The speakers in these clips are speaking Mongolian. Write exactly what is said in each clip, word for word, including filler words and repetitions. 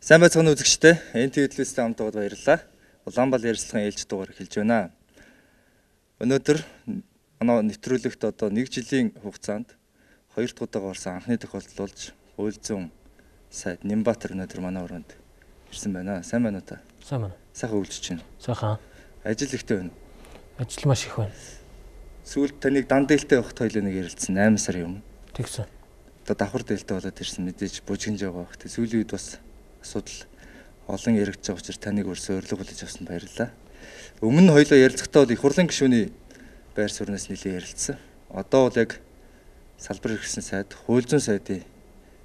Сайн байцгаана үзэгчдээ. эн тэ вэ телевизтэй хамт байгаад баярлалаа. Улаанбаал ярилцлагын ээлж дугаар эхэлж байна. Өнөөдөр манай нэвтрүүлэгт одоо нэг жилийн хугацаанд хоёр дахь удаага орсон анхны тохиолдол болж Хууль зүйн сайд Нямбатар өнөөдөр манай өрөөнд ирсэн байна. Сайн байна уу та? Сайн байна. Сайхан үйлчж байна. Сайхан. Ажил ихтэй байна. Ажил маш их байна. Сүүлд таныг дан дээлтэй явахт хоёул нэг ярилцсан восемь сарын өмнө. Тэгсэн. Одоо давхар дээлтэй болоод ирсэн мэдээж бужигнж байгаа бах. Тэг сүүлийн үед бас асуудал олон яригдж байгаа учраас таныг өрсө өрлөг хүлээж авсан баярлалаа. Өмнө нь хоёлоо ярилцахтаа бол их хурлын гишүүний байр суурнаас нэлээд ярилцсан. Одоо бол яг салбар хэрэгсэн сайд, хууль зүйн сайдын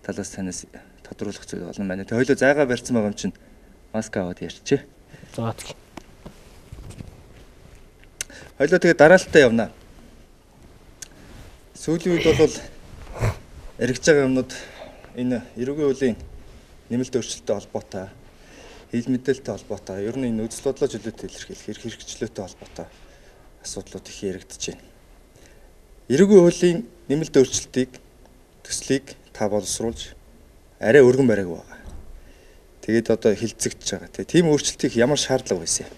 талаас танаас тодруулах зүйл болно байна. Тэг хоёлоо зайгаа барьсан байгаа юм чинь маск аваад ярьчээ. За тэг. Хоёлоо тэгээ дараалтаа явна. Сүүлийн үед бол яригдж байгаа юмнууд энэ эрүүгийн хуулийн нэмэлт өөрчлөлттэй холбоотой, хил мэдээлэлтэй холбоотой, ер нь энэ үзэл бодлоо чөлөөтэй илэрхийлэх, эрх хэрэгчлөөтэй холбоотой асуудлууд их яригдж байна. Эрүүгийн хуулийн нэмэлт өөрчлөлтийг төслийг та боловсруулж арай өргөн бариаг байгаа. Тэгээд одоо хилцэгдэж байгаа. Тийм өөрчлөлтийг ямар шаардлага байсан юм?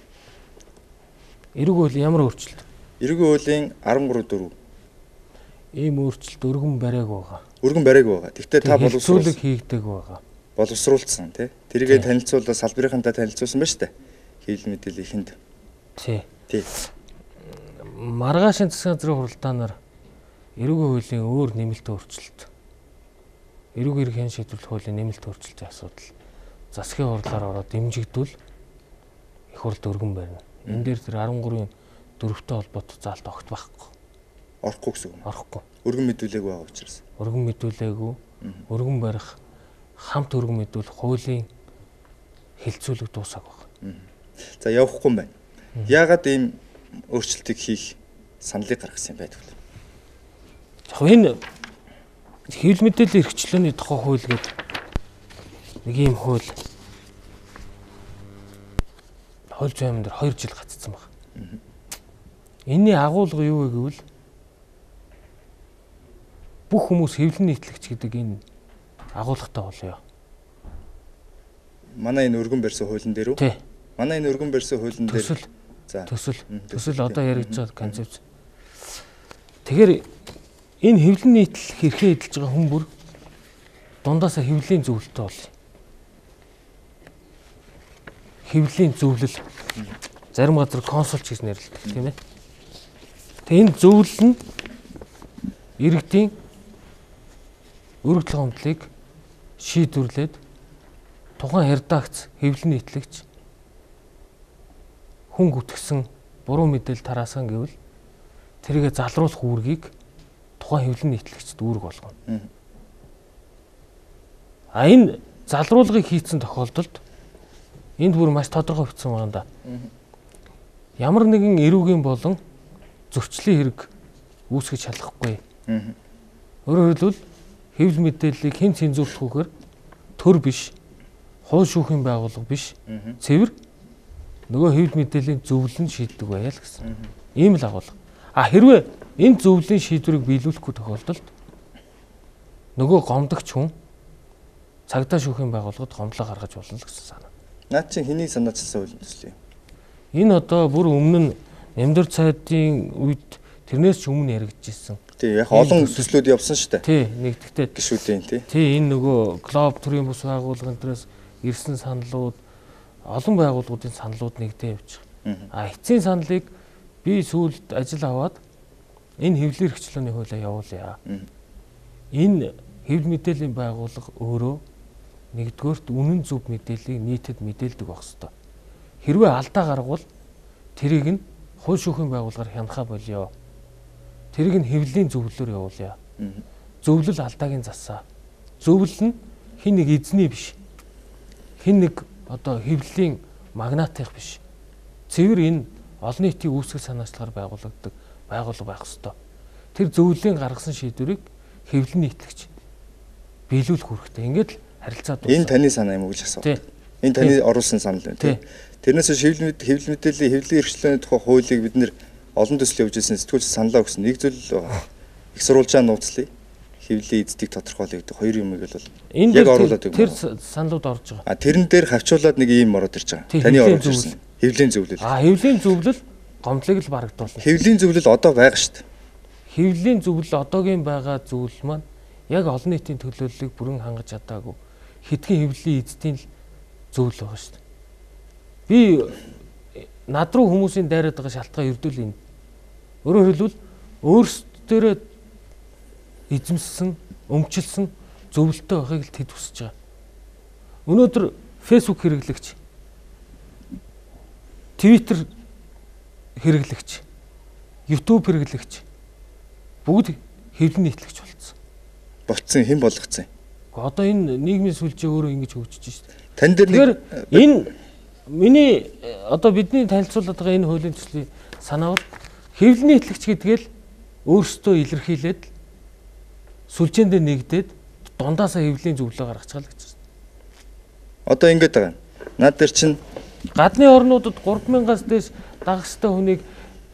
Эрүүгийн хуулийн ямар өөрчлөлт? Эрүүгийн хуулийн арван гурав дөрөв. Ийм өөрчлөлт өргөн бариаг байгаа. Өргөн бариаг байгаа. Тэгвэл та боловсруулах хийгдэг байгаа. боловсруулсан тий. Тэргээ танилцуулаад салбарынхантай танилцуулсан байна шүү дээ. Хил мэдээллийнхэнд. Тий. Тий. Маргаашийн засгийн газрын хуралдаанаар эрүүгийн хуулийн өөр нэмэлт өөрчлөлт. Эрүүгийн эрхийн шийдвэрлэх хуулийн нэмэлт өөрчлөлтийн асуудал засгийн хурлаар ороод дэмжигдвэл их хурлд өргөн барина. Энэ дээр тэр арван гурвын дөрөвтэй холбоотой заалт огт байхгүй. Орохгүй гэсэн үг. Орохгүй. Өргөн мэдүүлээгүй байгаа учраас. Өргөн мэдүүлээгүй. Өргөн барих хамт өргөн мэдүүл хуулийн хилцүүлэг дуусах байна. За явахгүй юм байна. Яагаад ийм өөрчлөлтийг хийх саналыг гаргасан юм байдаг вэ? Яг энэ хэвлэл мэдээллийн эрхчлөөний тухай хууль гэдэг нэг ийм хууль хууль зүйн дээр хоёр жил гацсан байна. Энийний агуулга юу вэ гэвэл бүх хүмүүс хэвлэл нийтлэгч гэдэг энэ агуулгатай болёо. Манай энэ өргөн барьсан хуулийн дээр үү? Тий. Манай энэ өргөн барьсан хуулийн дээр төсөл. За. Төсөл. Төсөл одоо яригдж байгаа концепц. Тэгэхээр энэ хэвлэл нийтлэх эрхээ эдэлж байгаа хүн бүр дундаасаа хэвлэлийн зөвлөлтөй бол. Хэвлэлийн зөвлөл зарим газар консулч гэж нэрлэдэг тийм ээ. Тэгээ энэ зөвлөл нь иргэдийн өргөдөл гомдлыг шийдвэрлээд тухайн редакц хэвлэл нийтлэгч хүн гүтгсэн буруу мэдээлэл тараасан гэвэл тэрийгэ залруулах үүргийг тухайн хэвлэл нийтлэгчд үүрэг болгоно. А энэ залруулгыг хийцэн тохиолдолд энд бүр маш тодорхой бичсэн байна да. Ямар нэгэн эрүүгийн болон зөрчлийн хэрэг үүсгэж шалахгүй. Өөрөөр хэлбэл хэвлэл мэдээллийг хэн цензуурлахгүйгээр төр биш, хууль шүүхийн байгууллага биш, цэвэр нөгөө хэвлэл мэдээллийн зөвлөл нь шийддэг байя л гэсэн. Ийм л агуулга. А хэрвээ энэ зөвлөлийн шийдвэрийг биелүүлэхгүй тохиолдолд нөгөө гомдогч хүн цагдаа шүүхийн байгууллагад гомдлоо гаргаж болно л гэсэн санаа. Наад чинь хэний санаачилсан хуулийн төсөл юм? Энэ одоо бүр өмнө нь Нямдар цайдын үед тэрнээс ч өмнө яригдчихсэн. Тий, яг олон төслүүд явсан шүү дээ. Тий, нэгдэгтэй гишүүдийн тий. Тий, энэ нөгөө глоб төрийн бус байгууллагын төрөөс ирсэн саналууд, олон байгууллагуудын саналууд нэгдээ явж байгаа. А эцсийн саналыг би сүүлд ажил аваад энэ хэвлэл эрхчлөөний хуулиа явуулъя. Энэ хэвлэл мэдээллийн байгууллага өөрөө нэгдүгээрт үнэн зөв мэдээллийг нийтэд мэдээлдэг байх ёстой. Хэрвээ алдаа гаргавал тэрийг нь хууль шүүхийн байгууллагаар хянахаа болёо. Тэрийг нь хэвлэлийн зөвлөлөөр явуулъя. Зөвлөл алдааг нь засаа. Зөвлөл нь хин нэг эзний биш. Хин нэг одоо хэвлэлийн магнатих биш. Цэвэр энэ олон нийтийн үүсгэл санаачлагаар байгуулагддаг байгууллага байх ёстой. Тэр зөвлөлийн гаргасан шийдвэрийг хэвлэл нийтлэгч биелүүлэх хэрэгтэй. Ингээд л харилцаа дуусна. Энэ таны санаа юм уу гэж асуув. Энэ таны оруулсан санал байна тий. Тэрнээс хэвлэл хэвлэл мэдээллийн хэвлэлийн эрхчлөөний тухай хуулийг бид нэр олон төсөл явуулж ирсэн сэтгүүлч саналаа өгсөн нэг зүйл байгаа. Их сурвалжаа нууцлыг хэвлэлийн эздийг тодорхойлогддог хоёр юмыг бол энэ яг оруулаад тэр саналууд орж байгаа. А тэрэн дээр хавчуулаад нэг ийм ороод ирж байгаа. Таны оруулж ирсэн. Хэвлэлийн зөвлөл. А хэвлэлийн зөвлөл гомдлыг л барагдуулна. Хэвлэлийн зөвлөл одоо байгаа шүү дээ. Хэвлэлийн зөвлөл одоогийн байгаа зөвлөл маань яг олон нийтийн төлөөллийг бүрэн хангаж чадаагүй хэдхэн хэвлэлийн эздийн л зөвлөл байгаа шүү дээ. Би над руу хүмүүсийн дайраад байгаа шалтгаан ердөө энэ. Өөрөөр хэлбэл өөрсдөө эзэмссэн, өмчлсөн зөвлөлтөй байхыг л тэд хүсэж байгаа. Өнөөдөр Facebook хэрэглэгч, Twitter хэрэглэгч, YouTube хэрэглэгч бүгд хэвлэн нийтлэгч болцсон. Болцсон хэн болгоцсон юм? Одоо энэ нийгмийн сүлжээ өөрөө ингэж хөгжиж шүү дээ. Тань дээр нэг энэ миний одоо бидний танилцуулаад байгаа энэ хуулийн төслийн санаа бол хэвлэн нийтлэгч гэдгээл өөрсдөө илэрхийлээд сүлжээндээ нэгдээд дундаасаа хэвлэлийн зөвлөө гаргаж байгаа л гэж байна. Одоо ингэж байгаа. Наад дээр чинь гадны орнуудад гурван мянгаас дээш дагагчтай хүнийг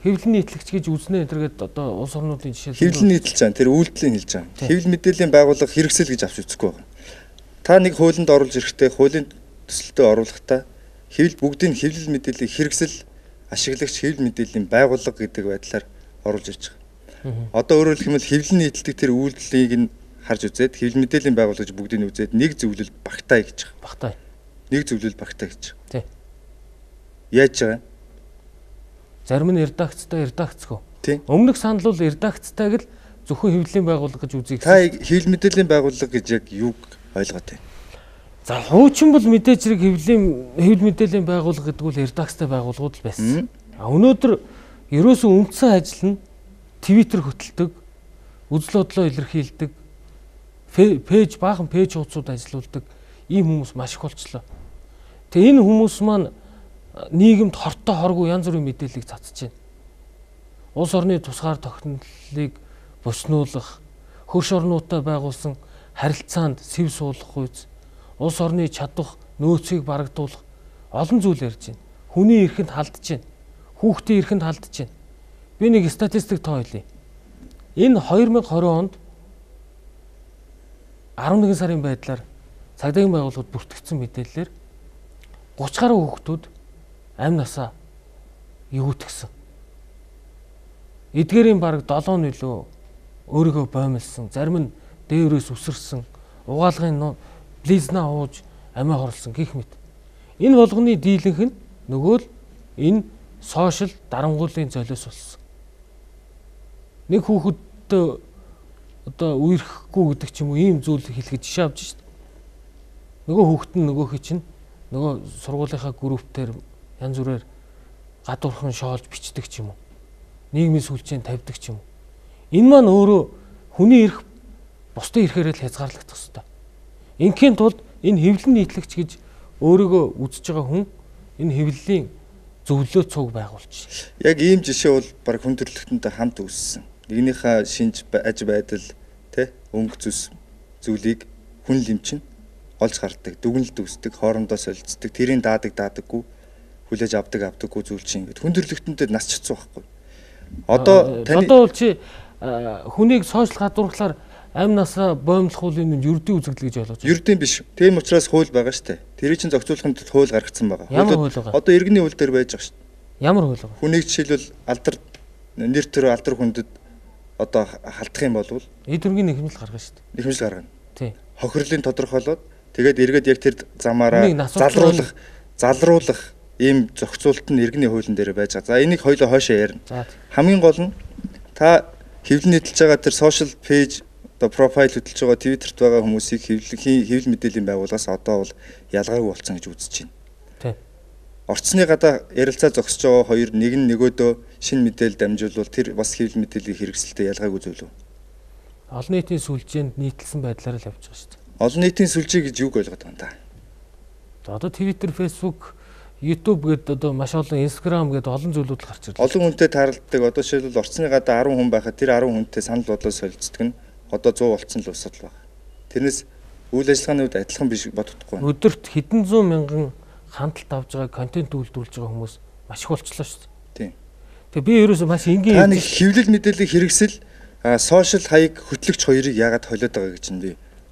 хэвлэн нийтлэгч гэж үзнэ энтергээд одоо улс орнуудын жишээ хэвлэн нийтлж байгаа. Тэр үйлдэлийг хэлж байгаа. Хэвлэл мэдээллийн байгууллага хэрэгсэл гэж авч үзэхгүй байгаа. Та нэг хуулинд оруулж ирэхдээ хуулийн төсөлтөд оруулахдаа хэвлэл бүгдийн хэвлэл мэдээллийг хэрэгсэл ашиглагч хэвлэл мэдээллийн байгууллага гэдэг байдлаар оруулж ирж байгаа. Одоо өөрөөр хэлбэл хэвлэл нийтлдэг тэр үйлдэлийг нь харж үзээд хэвлэл мэдээллийн байгууллагч бүгдийг нь үзээд нэг зөвлөл багтаа гэж байгаа. Багтаа. Нэг зөвлөл багтаа гэж. Тий. Яаж байгаа? Зарим нь редакцтай, редакцгүй. Тий. Өмнөх санал бол редакцтайг л зөвхөн хэвлэлийн байгууллага гэж үзье гэсэн. Та хэвлэл мэдээллийн байгууллага гэж яг юуг ойлгоод байна? За хуучин бол мэдээж зэрэг хэвлэлийн хэвлэл мэдээллийн байгууллага гэдэг бол редакцтай байгууллагууд л байсан. А өнөөдөр ерөөсөө үндсэн ажил нь Twitter хөтэлдэг, үзэл бодлоо илэрхийлдэг, пэйж баахан пэйж хуудсууд ажилуулдаг ийм хүмүүс маш их болчлоо. Тэгээ энэ хүмүүс маань нийгэмд хортой хоргүй янз бүрийн мэдээллийг цацж байна. Улс орны тусгаар тогтнолыг боснуулах, хөрш орнуудтай байгуулсан харилцаанд сэв суулгах үйс, улс орны чадвах нөөцийг барагдуулах олон зүйл ярьж байна. Хүний эрхэнд халдж байна. Хүүхдийн эрхэнд халдж байна. Би нэг статистик тоо хэлье. Энэ две тысячи двадцать онд eleven сарын байдлаар цагдаагийн байгууллагууд бүртгэгдсэн мэдээлэлээр thirty гаруй хүүхдүүд амь насаа эгүүтгсэн. Эдгээрийн бараг seven нөлөө өөрийгөө боомлсон, зарим нь дээрөөс үсэрсэн, угаалгын близна ууж амиа хорлсон гэх мэт. Энэ болгоны дийлэнх нь нөгөө л энэ сошиал дарангуулын золиос болсон. Нэг хүүхэдтэй одоо үерхэхгүй гэдэг ч юм уу ийм зүйл хэлэхэд жишээ авч шít. Нөгөө хүүхэд нь нөгөөхий чинь нөгөө сургуулийнхаа группээр янз бүрээр гадуурхан шоолж бичдэг ч юм уу. Нийгмийн сүлжээнд тавьдаг ч юм уу. Энэ маань өөрөө хүний эрх бусдын эрхээрээ л хязгаарлагдах ёстой. Инхийн тулд энэ хэвлэн нийтлэгч гэж өөрийгөө үзэж байгаа хүн энэ хэвлэлийн зөвлөө цуг байгуулж. Яг ийм жишээ бол баг хүн төрөлхтөнтэй хамт үүссэн. Нэгнийхээ шинж аж байдал тэ өнгө зүс зүйлийг хүн лимчин олж харддаг, дүгнэлт үүсдэг, хоорондоо солилцдог, тэрийн даадаг daadаггүй, хүлээж авдаг авдаггүй зүйл чинь ингээд хүн төрөлхтөнтэй нас чицсан байхгүй. Одоо таны одоо бол чи хүнийг сошиал гадуурхлаар амь насаа боомлох хуулийн юрдийн үзэгдэл гэж ойлгож байна. Юрдийн биш. Тийм учраас хууль байгаа шүү дээ. Тэрийг чинь зохицуулахын тулд хууль гаргацсан байгаа. Ямар хууль байгаа? Одоо иргэний хууль дээр байж байгаа шүү дээ. Ямар хууль байгаа? Хүнийг жишээлбэл алдар нэр төр алдар хүндэд одоо халтах юм бол эд хөргийн нэхэмжил гаргана шүү дээ. Нэхэмжил гаргана. Тий. Хохирлын тодорхойлоод тэгээд эргээд яг тэр замаараа залруулах, залруулах ийм зохицуулалт нь иргэний хуулийн дээр байж байгаа. За энийг хоёлоо хойшоо ярина. Хамгийн гол нь та хэвлэл нийтэлж байгаа тэр social page одоо профайл хөтэлж байгаа Twitter-т байгаа хүмүүсийг хэвлэл хэвлэл мэдээллийн байгууллагаас одоо бол ялгаагүй болсон гэж үзэж байна. Тий. Орцны гадаа ярилцаа зогсож байгаа хоёр нэг нь нөгөөдөө шинэ мэдээлэл дамжуулвал тэр бас хэвлэл мэдээллийн хэрэгсэлтэй ялгаагүй зүйл үү? Олон нийтийн сүлжээнд нийтэлсэн байдлаар л явж байгаа шүү дээ. Олон нийтийн сүлжээ гэж юуг ойлгоод байна та? Одоо Twitter, Facebook, YouTube гэдэг одоо маш олон Instagram гэдэг олон зүйлүүд л гарч ирлээ. Олон хүнтэй тааралддаг. Одоо жишээлбэл орцны гадаа ten хүн байхад тэр ten хүнтэй санал бодлоо солилцдог нь одоо one hundred болцсон л усад байна. Тэрнээс үйл ажиллагааны үед адилхан биш бодохгүй байна. Өдөрт хэдэн зуун мянган хандлт авж байгаа контент үйлдвэрлэж байгаа хүмүүс маш их болчихлоо шүү дээ. Тийм. Тэгээ би ерөөсөө маш энгийн та нэг хэвлэл мэдээллийг хэрэгсэл А сошиал хаяг хөтлөгч хоёрыг яагаад холиод байгаа гэж нь би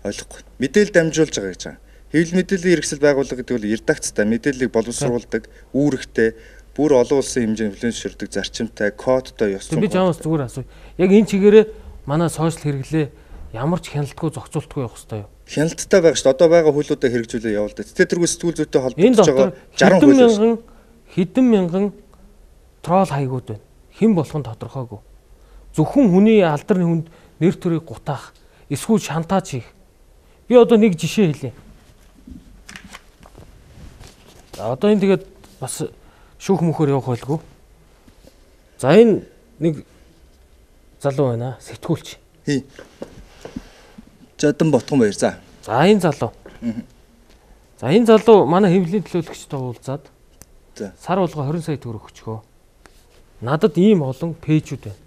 ойлгохгүй. Мэдээлэл дамжуулж байгаа гэж байгаа. Хэвлэл мэдээллийн хэрэгсэл байгууллага гэдэг бол редакцтай мэдээллийг боловсруулдаг, үүрэгтэй, бүр олон улсын хэмжээнд хүлээн зөвшөөрдөг зарчимтай, кодтой ёс зүйн. Би жамаас зүгээр асууя. Яг энэ чигээрээ манай сошиал хэрэглээ ямар ч хяналтгүй зохицуултгүй явах хэрэгтэй юу? Хяналттай байгаа шүү дээ. Одоо байгаа хуулиудаа хэрэгжүүлээ явуулдаг. Тэ тэргүй сэтгүүл зүйтэй холбогдож байгаа жарган хууль мянган хэдэн мянган трол хаягууд байна. Хэн болох нь тодорхойгүй. Зөвхөн хүний алдарны хүнд нэр төрийг гутаах, эсвэл шантаж хийх. Би одоо нэг жишээ хэлье. Одоо энэ тэгээд бас шүүх мөхөр явах байлгүй. За энэ нэг залуу байна, сэтгүүлч. Хий. Жадан Ботгон баяр. За. За энэ залуу. За энэ залуу манай хэвлэлийн төлөөлөгчтэй уулзаад за сар болгоо хорин сая төгрөг өчгөө. Надад ийм олон пэйжүүд байна.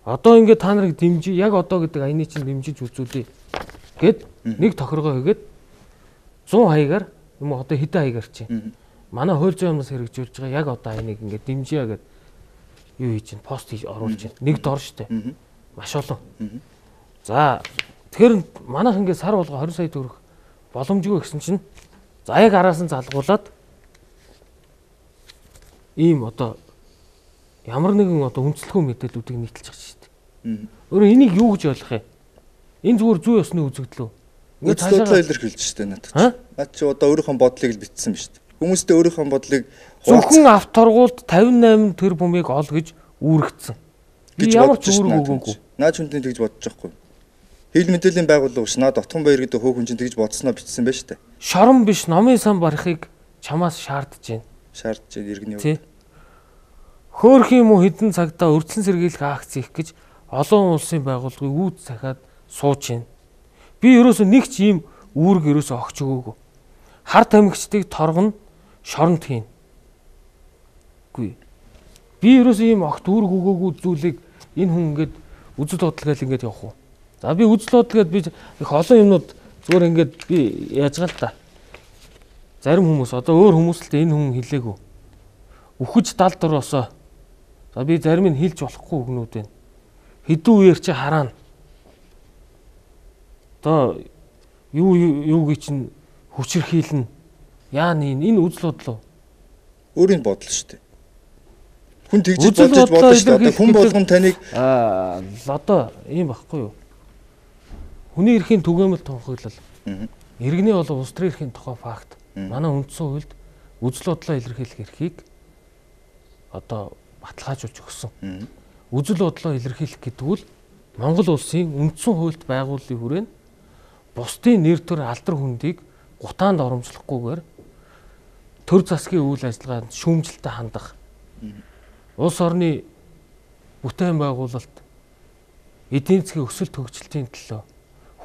Одоо ингээд та нарыг дэмжиж, яг одоо гэдэг аяны чинь дэмжиж үзүүлье гэд нэг тохиргоо хийгээд зуун хаягаар юм уу одоо хэдэн хаягаар чинь. Манай хууль зүйн юмнаас хэрэгжүүлж байгаа яг одоо аяныг ингээд дэмжиж гэд юу хийж чинь пост хийж оруулж чинь. Нэг дор штэ. Маш олон. За тэгэхээр манайх ингээд сар болго хорин сая төгрөг боломжгүй гэсэн чинь за яг араас нь залгуулад ийм одоо ямар нэгэн одоо үнэлэхгүй мэдээллүүдийг нийтэлж байгаа шүү дээ. Өөрөөр энийг юу гэж ойлгох юм? Энэ зүгээр зүй ёсны үзэгдэл үү? Ингээд цаашлаа илэрхийлж шүү дээ надад. Наад чи одоо өөрийнхөө бодлыг л битсэн биз дээ. Хүмүүстээ өөрийнхөө бодлыг зөвхөн авторгуулд тавин восемь тэрбумыг ол гэж үүрэгдсэн. Би ямар ч үүрэг өгөөгүй. Наад хүнтэй тэгж бодож байхгүй. Хэвлэл мэдээллийн байгууллага ш наад Отгон баяр гэдэг хөөх хүн чинь тэгж бодсноо бичсэн байж таа. Шорон биш номын сан барихыг чамаас шаардж байна. Шаардж байна иргэний үед. Хөөх юм уу хэдэн цагтаа өрдлөн сэргийлэх акц хийх гэж олон улсын байгууллагыг үүд захиад сууж байна. Би ерөөсөө нэг ч ийм үүрэг ерөөсөө огч өгөөгүй. Хар тамхичдыг торгоно, шоронд хийн. Гүй. Би ерөөсөө ийм огт үүрэг өгөөгүй зүйлийг энэ хүн ингээд үзэл бодлогоо ингээд явах уу? За би үзэл бодлогоод би их олон юмнууд зүгээр ингээд би яаж гал та. Зарим хүмүүс одоо өөр хүмүүст л энэ хүн хэлээгүй. Үхэж далд ороосоо. За би зарим нь хэлж болохгүй өгнүүд байна. Хэдэн үеэр чи хараана. Одоо юу юуг чинь хүчрхийлнэ. Яа нэ энэ үзэл бодлоо. Өөрийн бодол шүү дээ. Хүн тэгж бодож болно шүү дээ. Хүн болгон таныг аа одоо ийм байхгүй юу? Хүний эрхийн түгээмэл тунхаглал. Иргэний болон улс төрийн эрхийн тухай факт. Манай үндсэн хуульд үзэл бодлоо илэрхийлэх эрхийг одоо баталгаажуулж өгсөн. Үзэл бодлоо илэрхийлэх гэдэг нь Монгол улсын үндсэн хуульд байгууллагын хүрээнд бусдын нэр төр алдар хүндийг гутаанд оромжлохгүйгээр төр засгийн үйл ажиллагаанд шүүмжлэлтэй хандах. Улс орны бүтээн байгуулалт эдийн засгийн өсөлт хөгжилтийн төлөө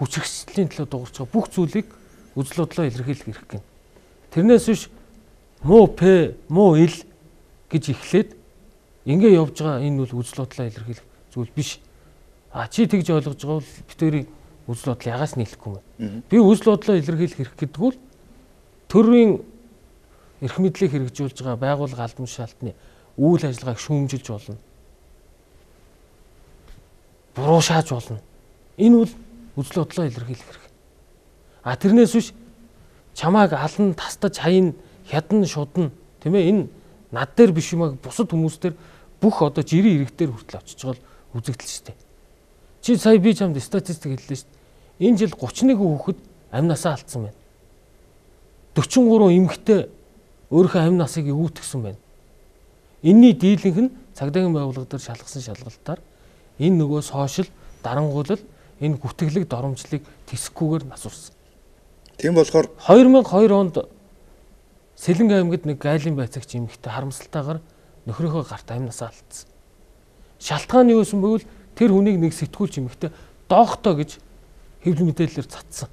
хүчирхэгжлийн төлөө дуурч байгаа бүх зүйлийг үзэл бодлоо илэрхийлэх эрх гэнэ. Тэрнээс биш муу п муу ил гэж эхлээд ингээ явж байгаа энэ бол үзэл бодлоо илэрхийлэх зүйл биш. А чи тэгж ойлгож байгаа бол битэрийн үзэл бодол ягаас нийлэхгүй юм. Би үзэл бодлоо илэрхийлэх эрх гэдэг нь төрийн эрх мэдлийг хэрэгжүүлж байгаа байгууллага албан тушаалтны үйл ажиллагааг шүүмжилж болно. Буруу шааж болно. Энэ бол үзэл бодлоо илэрхийлэх эрх. А тэрнээс биш чамааг алан тастаж хаян хядна шудна тийм ээ энэ над дээр биш юмаа бусад хүмүүс дээр бүх одоо жирийн иргэдээр хүртэл очиж байгаа л үзэгдэл шүү дээ. Чи сая би чамд статистик хэллээ шүү дээ. Энэ жил гуч нэг хүүхэд амнасаа алдсан байна. дөрвөн гурван эмэгтэй өөрийнхөө амь насыг өвтгсөн байна. Энийний дийлэнх нь цагдаагийн байгууллага дээр шалгасан шалгалтаар энэ нөгөө сошиал дарангуйлал энэ гүтгэлэг доромжлыг тэсэхгүйгээр насурсан. Тийм болохоор две тысячи two онд Сэлэнг аймагт нэг гайлын байцаагч эмэгтэй харамсалтайгаар нөхрийнхөө гарт амь насаа алдсан. Шалтгаан нь юу байсан бэ? Тэр хүнийг нэг сэтгүүлч эмэгтэй доохтой гэж хэвлэл мэдээлэлээр цацсан.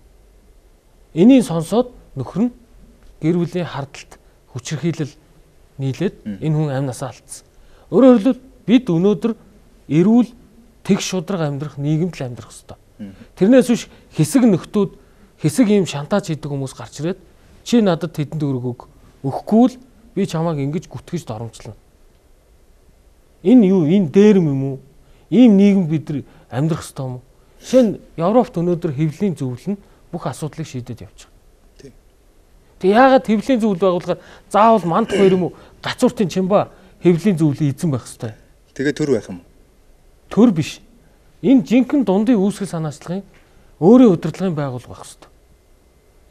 Энийг сонсоод нөхөр нь гэр бүлийн хардалт хүчирхийлэл нийлээд энэ хүн амь насаа алдсан. Өөрөөр хэлбэл бид өнөөдөр эрүүл тэг шудраг амьдрах нийгэмд л амьдрах ёстой. Тэрнээс биш хэсэг нөхдүүд хэсэг ийм шантаж хийдэг хүмүүс гарч ирээд чи надад тэдэнд өрөг өг өгөхгүй л би чамааг ингэж гүтгэж доромжлно. Энэ юу? Энэ дээрм юм уу? Ийм нийгэм бид нар амьдрах ёстой юм уу? Жишээ нь Европт өнөөдөр хэвлэлийн зөвлөл нь бүх асуудлыг шийдэж явж байгаа. Тэг яагаад хэвлэлийн зөвлөл байгуулахаар заавал манд хоёр юм уу гацууртын чимба хэвлэлийн зөвлөлийн эзэн байх ёстой. Тэгээ төр байх юм. Төр биш. Энэ жинхэнэ дундын үүсгэл санаачлагын өөрийн удирдлагын байгуул байх ёстой.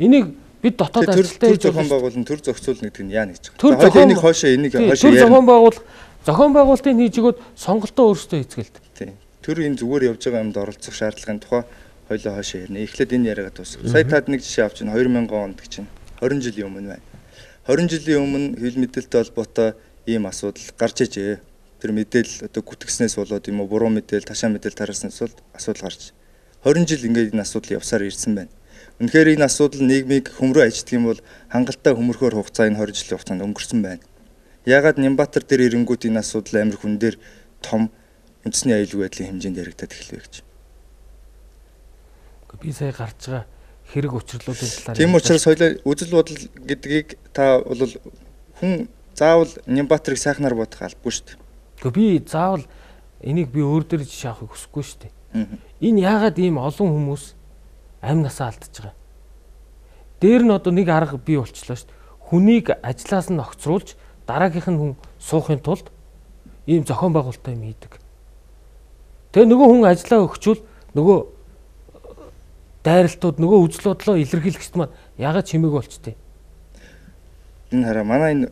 Энийг бид дотоод ажилтаа хийж зохион байгуулалт төр зохицуулна гэдэг нь яа гэж байгаа. Тэгэхээр энийг хоошоо энийг хоошоо яа. Төр зохион байгуул зохион байгуулалтын хийж өгөөд сонголтоо өөрсдөө эзгэлдэг. Тийм. Төр энэ зүгээр явж байгаа юмд оролцох шаардлагын тухай хоёлоо хоошоо ярина. Эхлээд энэ яриагаа дуусгах. Сая таад нэг жишээ авч байна. две тысячи онд гэж чинь twenty жилийн өмнө байна. twenty жилийн өмнө хэвлэл мэдээлэлтэй холбоотой ийм асуудал гарч ижээ. Тэр мэдээлэл одоо гүтгснээс болоод юм уу буруу мэдээлэл, ташаа мэдээлэл тараснаас бол асуудал гарч. twenty жил ингээд энэ асуудал явсаар ирсэн байна. Үнэхээр энэ асуудал нийгмийг хөмрөө ажигддаг юм бол хангалттай хөмөрхөөр хугацаа энэ twenty жилийн хугацаанд өнгөрсөн байна. Яагаад Нямбатар дээр ирэнгүүт энэ асуудал амир хүн дээр том үндэсний аюулгүй байдлын хэмжээнд яригдаад эхэлвэ гэж. Би сая гарч байгаа хэрэг учрлуудын талаар. Тийм учраас хоёлаа үзэл бодол гэдгийг та бол хүн заавал Нямбатарыг сайхнаар бодох албагүй шүү дээ. Гэхдээ би заавал энийг би өөр дээр жишээ авахыг хүсэхгүй шүү дээ. Энэ яагаад ийм олон хүмүүс амь насаа алдчихж байгаа. Дээр нь одоо нэг арга бий болчихлоо шүү дээ. Хүнийг ажлаас нь огцруулж дараагийнх нь хүн суухын тулд ийм зохион байгуулалтаа юм хийдэг. Тэгээ нөгөө хүн ажлаа өгчүүл нөгөө дайралтууд нөгөө үзэл бодлоо илэрхийлэгчд маань яагаад чимээг болчтой. Энэ хараа манай энэ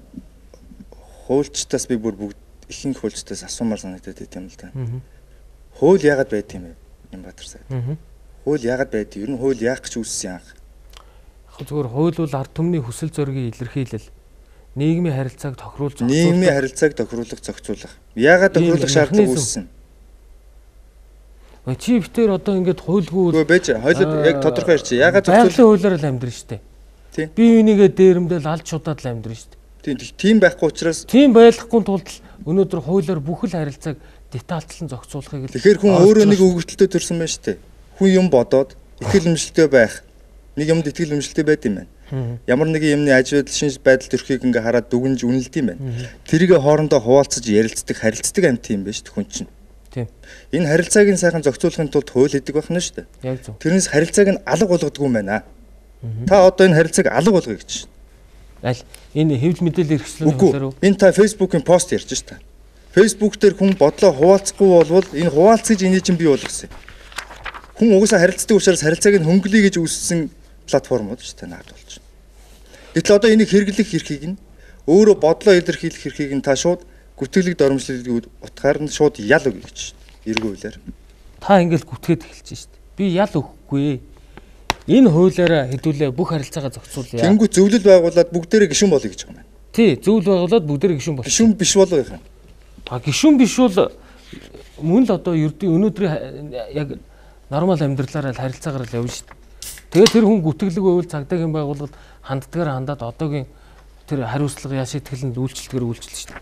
хуульчтаас би бүр бүгд ихэнх хуульчтаас асуумаар санагдаад байт юм л да. Хууль яагаад байд юм бэ? Нямбатар сайд. Хууль яагаад байд? Ер нь хууль яах гэж үүссэн анх? Яг зүгээр хууль бол ард түмний хүсэл зоригийн илэрхийлэл. Нийгмийн харилцааг тохируулж зохицуулах. Нийгмийн харилцааг тохируулах, зохицуулах. Яагаад тохируулах шаардлага үүссэн? Чи битээр одоо ингээд хуйлгүй. Үгүй байж хойлоод яг тодорхой ярьчих. Яагаад зохицуулах хуулиар л амьдрын штэ. Тийм. Би энийгээ дээрэмдэл алж шудаад л амьдрын штэ. Тийм. Тийм байхгүй учраас тийм байхгүй тулд өнөөдөр хуулиар бүх л харилцааг детальчлан зохицуулахыг л. Тэгэхээр хүн өөрөө нэг өгөгдөлтөд төрсэн байна штэ. Хүн юм бодоод итгэл өмжлөлтөй байх. Нэг юмд итгэл өмжлөлтөй байд юм байна. Ямар нэгэн юмны аж байдал шинж байдал төрхийг ингээ хараад дүгнж үнэлд юм байна. Тэрийг хоорондоо хуваалцаж ярилцдаг, харилцдаг амт юм байна штэ хүн чинь. Тийм. Энэ харилцааг нь сайхан зохицуулахын тулд хууль хийдэг байна шүү дээ. Яг зөв. Тэрнээс харилцааг нь алга болгодог юм байна. Та одоо энэ харилцааг алга болгоё гэж. Аль энэ хэвлэл мэдээлэл хэрэгслийн хуулиар уу? Энэ та Facebook-ийн пост ярьж шүү дээ. Facebook дээр хүн бодлоо хуваалцахгүй болвол энэ хуваалц гэж энийг чинь бий болгосон. Хүн угаасаа харилцдаг учраас харилцааг нь хөнгөлөе гэж үүссэн платформуд шүү дээ наад болж. Гэтэл одоо энийг хэрэглэх эрхийг нь өөрөө бодлоо илэрхийлэх эрхийг нь та шууд гүтгэлэг доромжлолыг утгаар нь шууд ял өгье гэж эргүү хуулиар. Та ингээл гүтгээд эхэлж штт. Би ял өгөхгүй. Энэ хуулиараа хэдүүлээ бүх харилцаагаа зохицуулъя. Тэнгүү зөвлөл байгуулад бүгдээрээ гишүүн болъё гэж байгаа юм байна. Тий, зөвлөл байгуулад бүгдээрээ гишүүн болъё. Гишүүн биш болоо юм. А гишүүн биш бол мөн л одоо ердийн өнөөдрийн яг нормал амьдралаараа л харилцаагаар л явна штт. Тэгээд тэр хүн гүтгэлэг байвал цагдаагийн байгууллагад ханддгаар хандаад одоогийн тэр хариуцлага яшиг тэлэнд үйлчлэлгээр үйлчлэл штт.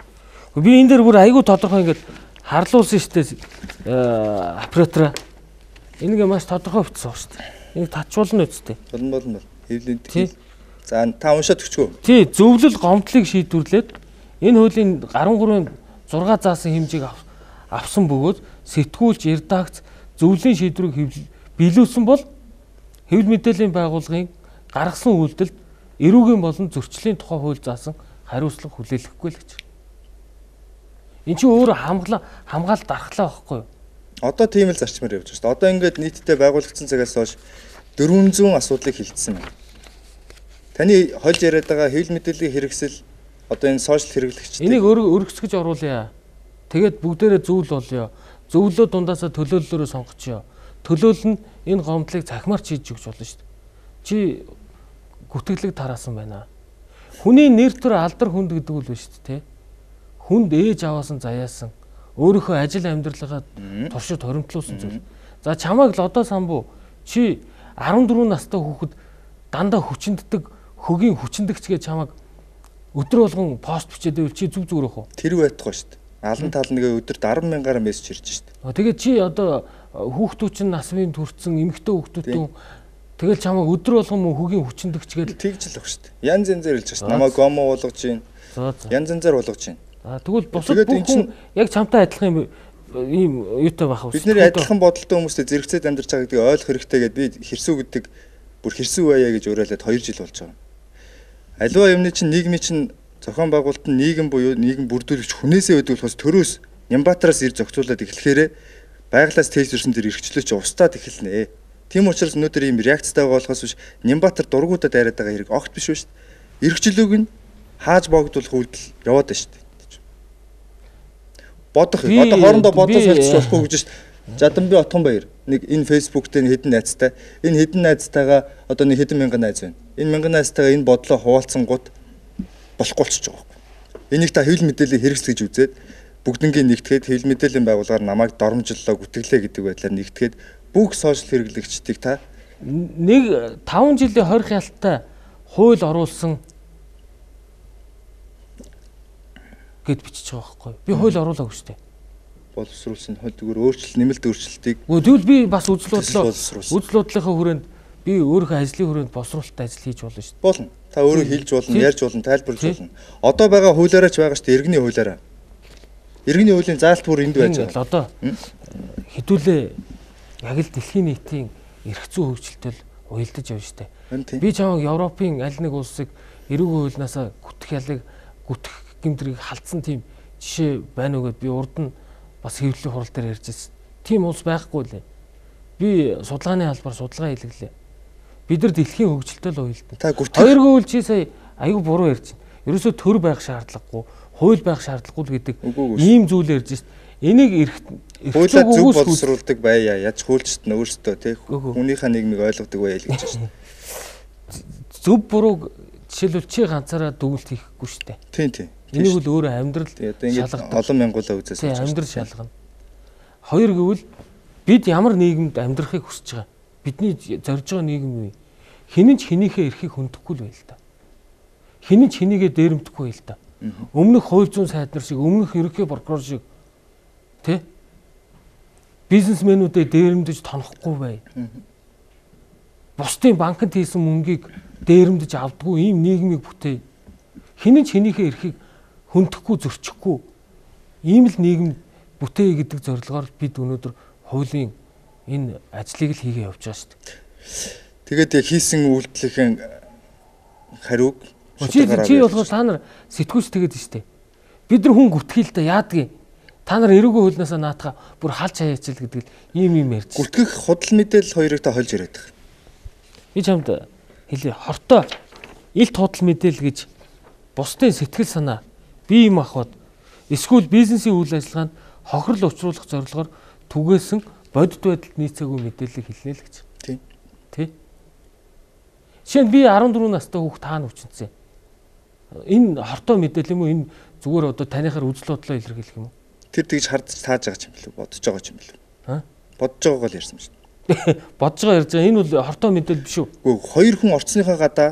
Би энэ дээр бүр айгүй тодорхой ингээд харлуулсан штэ оператора. Энийг маш тодорхой бичсэн шүү дээ. Энийг татчуулна үсттэй. Болно болно. Хэвлэл. За та уншаад өгчгөө. Тий, зөвлөл гомдлыг шийдвэрлээд энэ хуулийн thirty-three six заасан хэмжээг авсан бөгөөд сэтгүүлч, редакц зөвлөлийн шийдвэрийг биелүүлсэн бол хэвлэл мэдээллийн байгууллагын гаргасан үйлдэлд эрүүгийн болон зөрчлийн тухай хууль заасан хариуцлага хүлээлгэхгүй л гэж. Энд чинь өөр хамглаа хамгаалалт дархлаа байхгүй юу? Одоо тийм л зарчмаар явж байна шүү дээ. Одоо ингээд нийтдээ байгуулагдсан цагаас хойш four hundred асуудлыг хилцсэн байна. Таны хольж яриад байгаа хэвлэл мэдээллийн хэрэгсэл одоо энэ сошиал хэрэглэгчдийн энийг өргөсгөж оруулъя. Тэгээд бүгдээрээ зөвл болъё. Зөвлөө дундаасаа төлөөллөөрөө сонгочихё. Төлөөлөл нь энэ гомдлыг цахимаарч хийж өгч болно шүү дээ. Чи гүтгэлэг тараасан байна. Хүний нэр төр алдар хүнд гэдэг үл биш үү те? Хүнд ээж аваасан заяасан өөрийнхөө ажил амьдралгаа туршид хоримтлуулсан зүйл. За чамайг л одоо самбуу чи fourteen настай хүүхэд дандаа хүчинддэг хөгийн хүчиндэгч гэж чамайг өдөр болгон пост бичээд байвал чи зүг зүгээр ах уу? Тэр байтугай шүү дээ. Алан тал нэгэ өдөрт ten мянгаар мессеж ирж шүү дээ. Тэгээд чи одоо хүүхдүүд чинь насвын төрсэн эмэгтэй хүүхдүүд тэгэл чамайг өдөр болгон хөгийн хүчиндэгч гэж тэгж л ах шүү дээ. Янз янзэр хэлж шүү дээ. Намайг гомо болгож чинь. Янз янзаар болгож чинь. А тэгвэл бусад бүх хүн яг чамтай адилхан юм ийм юутай байх вэ? Бид нэр адилхан бодолтой хүмүүстэй зэрэгцээд амьдарч байгаа гэдгийг ойлгох хэрэгтэй гэдээ би хэрсүү гэдэг бүр хэрсүү байя гэж уриалаад хоёр жил болж байгаа. Аливаа юмны чинь нийгмийн чинь зохион байгуулалт нь нийгэм буюу нийгэм бүрдүүлэгч хүнээсээ байдаг болохоос төрөөс Нямбатараас ир зохицуулаад эхлэхээр байглаас тээвэрсэн тэр эрхчлөөч устдаад эхэлнэ. Тийм учраас өнөөдөр ийм реакцтай байгаа болохоос биш Нямбатар дургуудад яриад байгаа хэрэг огт биш шүү дээ. Эрхчлөөг нь хааж богдуулах үйлдэл яваад байна шүү дээ. Бодох юм. Одоо хоорондоо бодож хэлчих болохгүй гэж шүү дээ. Жаданби Отгонбаяр нэг энэ фэйсбүүк дээр хэдэн найзтай энэ хэдэн найзтайгаа одоо нэг хэдэн мянган найз байна. Энэ мянган найзтайгаа энэ бодлоо хуваалцсан гут болохгүй болчихж байгаа юм. Энийг та хэвлэл мэдээлэл хэрэгсэл гэж үзээд бүгднгийн нэгтгэхэд хэвлэл мэдээллийн байгууллагаар намайг доромжллоо гүтгэлээ гэдэг байдлаар нэгтгэхэд бүх сошиал хэрэглэгчдийг та нэг таван жилийн хорих ялтай хууль оруулсан гэд бичиж байгаа байхгүй. Би хууль оруулаагүй шүү дээ. Боловсруулсан хууль зүгээр өөрчлөлт нэмэлт өөрчлөлтийг. Тэгвэл би бас үзэл бодлоо үзэл бодлынхаа хүрээнд би өөрийнхөө ажлын хүрээнд босруулалттай ажил хийж болно шүү дээ. Болно. Та өөрөө хэлж болно, ярьж болно, тайлбарлаж болно. Одоо байгаа хуулиараач байгаа шүү дээ, иргэний хуулиараа. Иргэний хуулийн заалт бүр энд байж байгаа. Одоо хэдүүлээ яг л дэлхийн нийтийн эрх зүйн хөгжилтөд уялдаж явж штэ. Би чамайг Европын аль нэг улсыг эрүүгийн хуулинаасаа гүтэх ялыг гүтэх гэмтрийг халдсан тийм жишээ байна уу гэд би урд нь бас хэвлэлийн хурал дээр ярьж байсан. Тийм улс байхгүй лээ. Би судалгааны албаар судалгаа хийлгэлээ. Бид нар дэлхийн хөгжилтөд уялдана. Хоёргүй үл чи сая аюу буруу ярьж байна. Ерөөсөө төр байх шаардлагагүй, хууль байх шаардлагагүй гэдэг ийм зүйл ярьж байна. Энийг эрх хуулиа зөв боловсруулдаг байя. Яаж хуульчт нь өөрсдөө тий хүнийхээ нийгмийг ойлгодог байя л гэж байна. Зөв буруу жишээлбэл чи ганцаараа дүгнэлт хийхгүй шүү дээ. Тийм тийм. Энийг бол өөрөө амьдрал шалгадаг. Олон мянгуулаа үзээс болж байна. Амьдрал шалгана. Хоёр гэвэл бид ямар нийгэмд амьдрахыг хүсэж байгаа. Бидний зорж байгаа нийгэм юу? Хинэн ч хинийхээ эрхийг хөндөхгүй л байл та. Хинэн ч хинийгээ дээрэмдэхгүй байл та. Өмнөх хууль зүйн сайд нар шиг, өмнөх ерөнхий прокурор шиг тэ бизнесмэнүүдэд дээрэмдэж тонохгүй бай. Бусдын банкнд хийсэн мөнгийг дээрэмдэж авдаггүй ийм нийгмийг бүтээе. Хинэн ч хинийхээ эрхийг хөндөхгүй зөрчихгүй ийм л нийгэм бүтээе гэдэг зорилгоор бид өнөөдөр хуулийн энэ ажлыг л хийгээ явж байгаа шүү дээ. Тэгээд яг хийсэн үйлдэлийн хариуг чи чи болгож та нар сэтгүүлч тэгээд штэ. Бид нар хүн гүтгэл та яадгийг та нар эрүүгийн хуулинаасаа наатаха бүр халж хаяач л гэдэг ийм юм ярьж. Гүтгэх худал мэдээлэл хоёрыг та хольж яриад байгаа. Би чамд хэлээ хортой илт худал мэдээлэл гэж бусдын сэтгэл санаа бие юм ахвад эсвэл бизнесийн үйл ажиллагаанд хохирол учруулах зорилгоор түгээсэн бодит байдалд нийцээгүй мэдээллийг хэлнэ л гэж. Тийм. Тий. Жишээ нь би арван дөрвөн настай хүүхд таана хүчнэсэн. Энэ хортой мэдээлэл юм уу? Энэ зүгээр одоо танихаар үзэл бодлоо илэрхийлэх юм уу? Тэр тэгж хардж тааж байгаа юм билүү? Бодож байгаа юм билүү? Аа? Бодож байгаагаа л ярьсан шүү дээ. Бодож байгаа ярьж байгаа. Энэ бол хортой мэдээлэл биш үү? Үгүй хоёр хүн орцсныхаа гадаа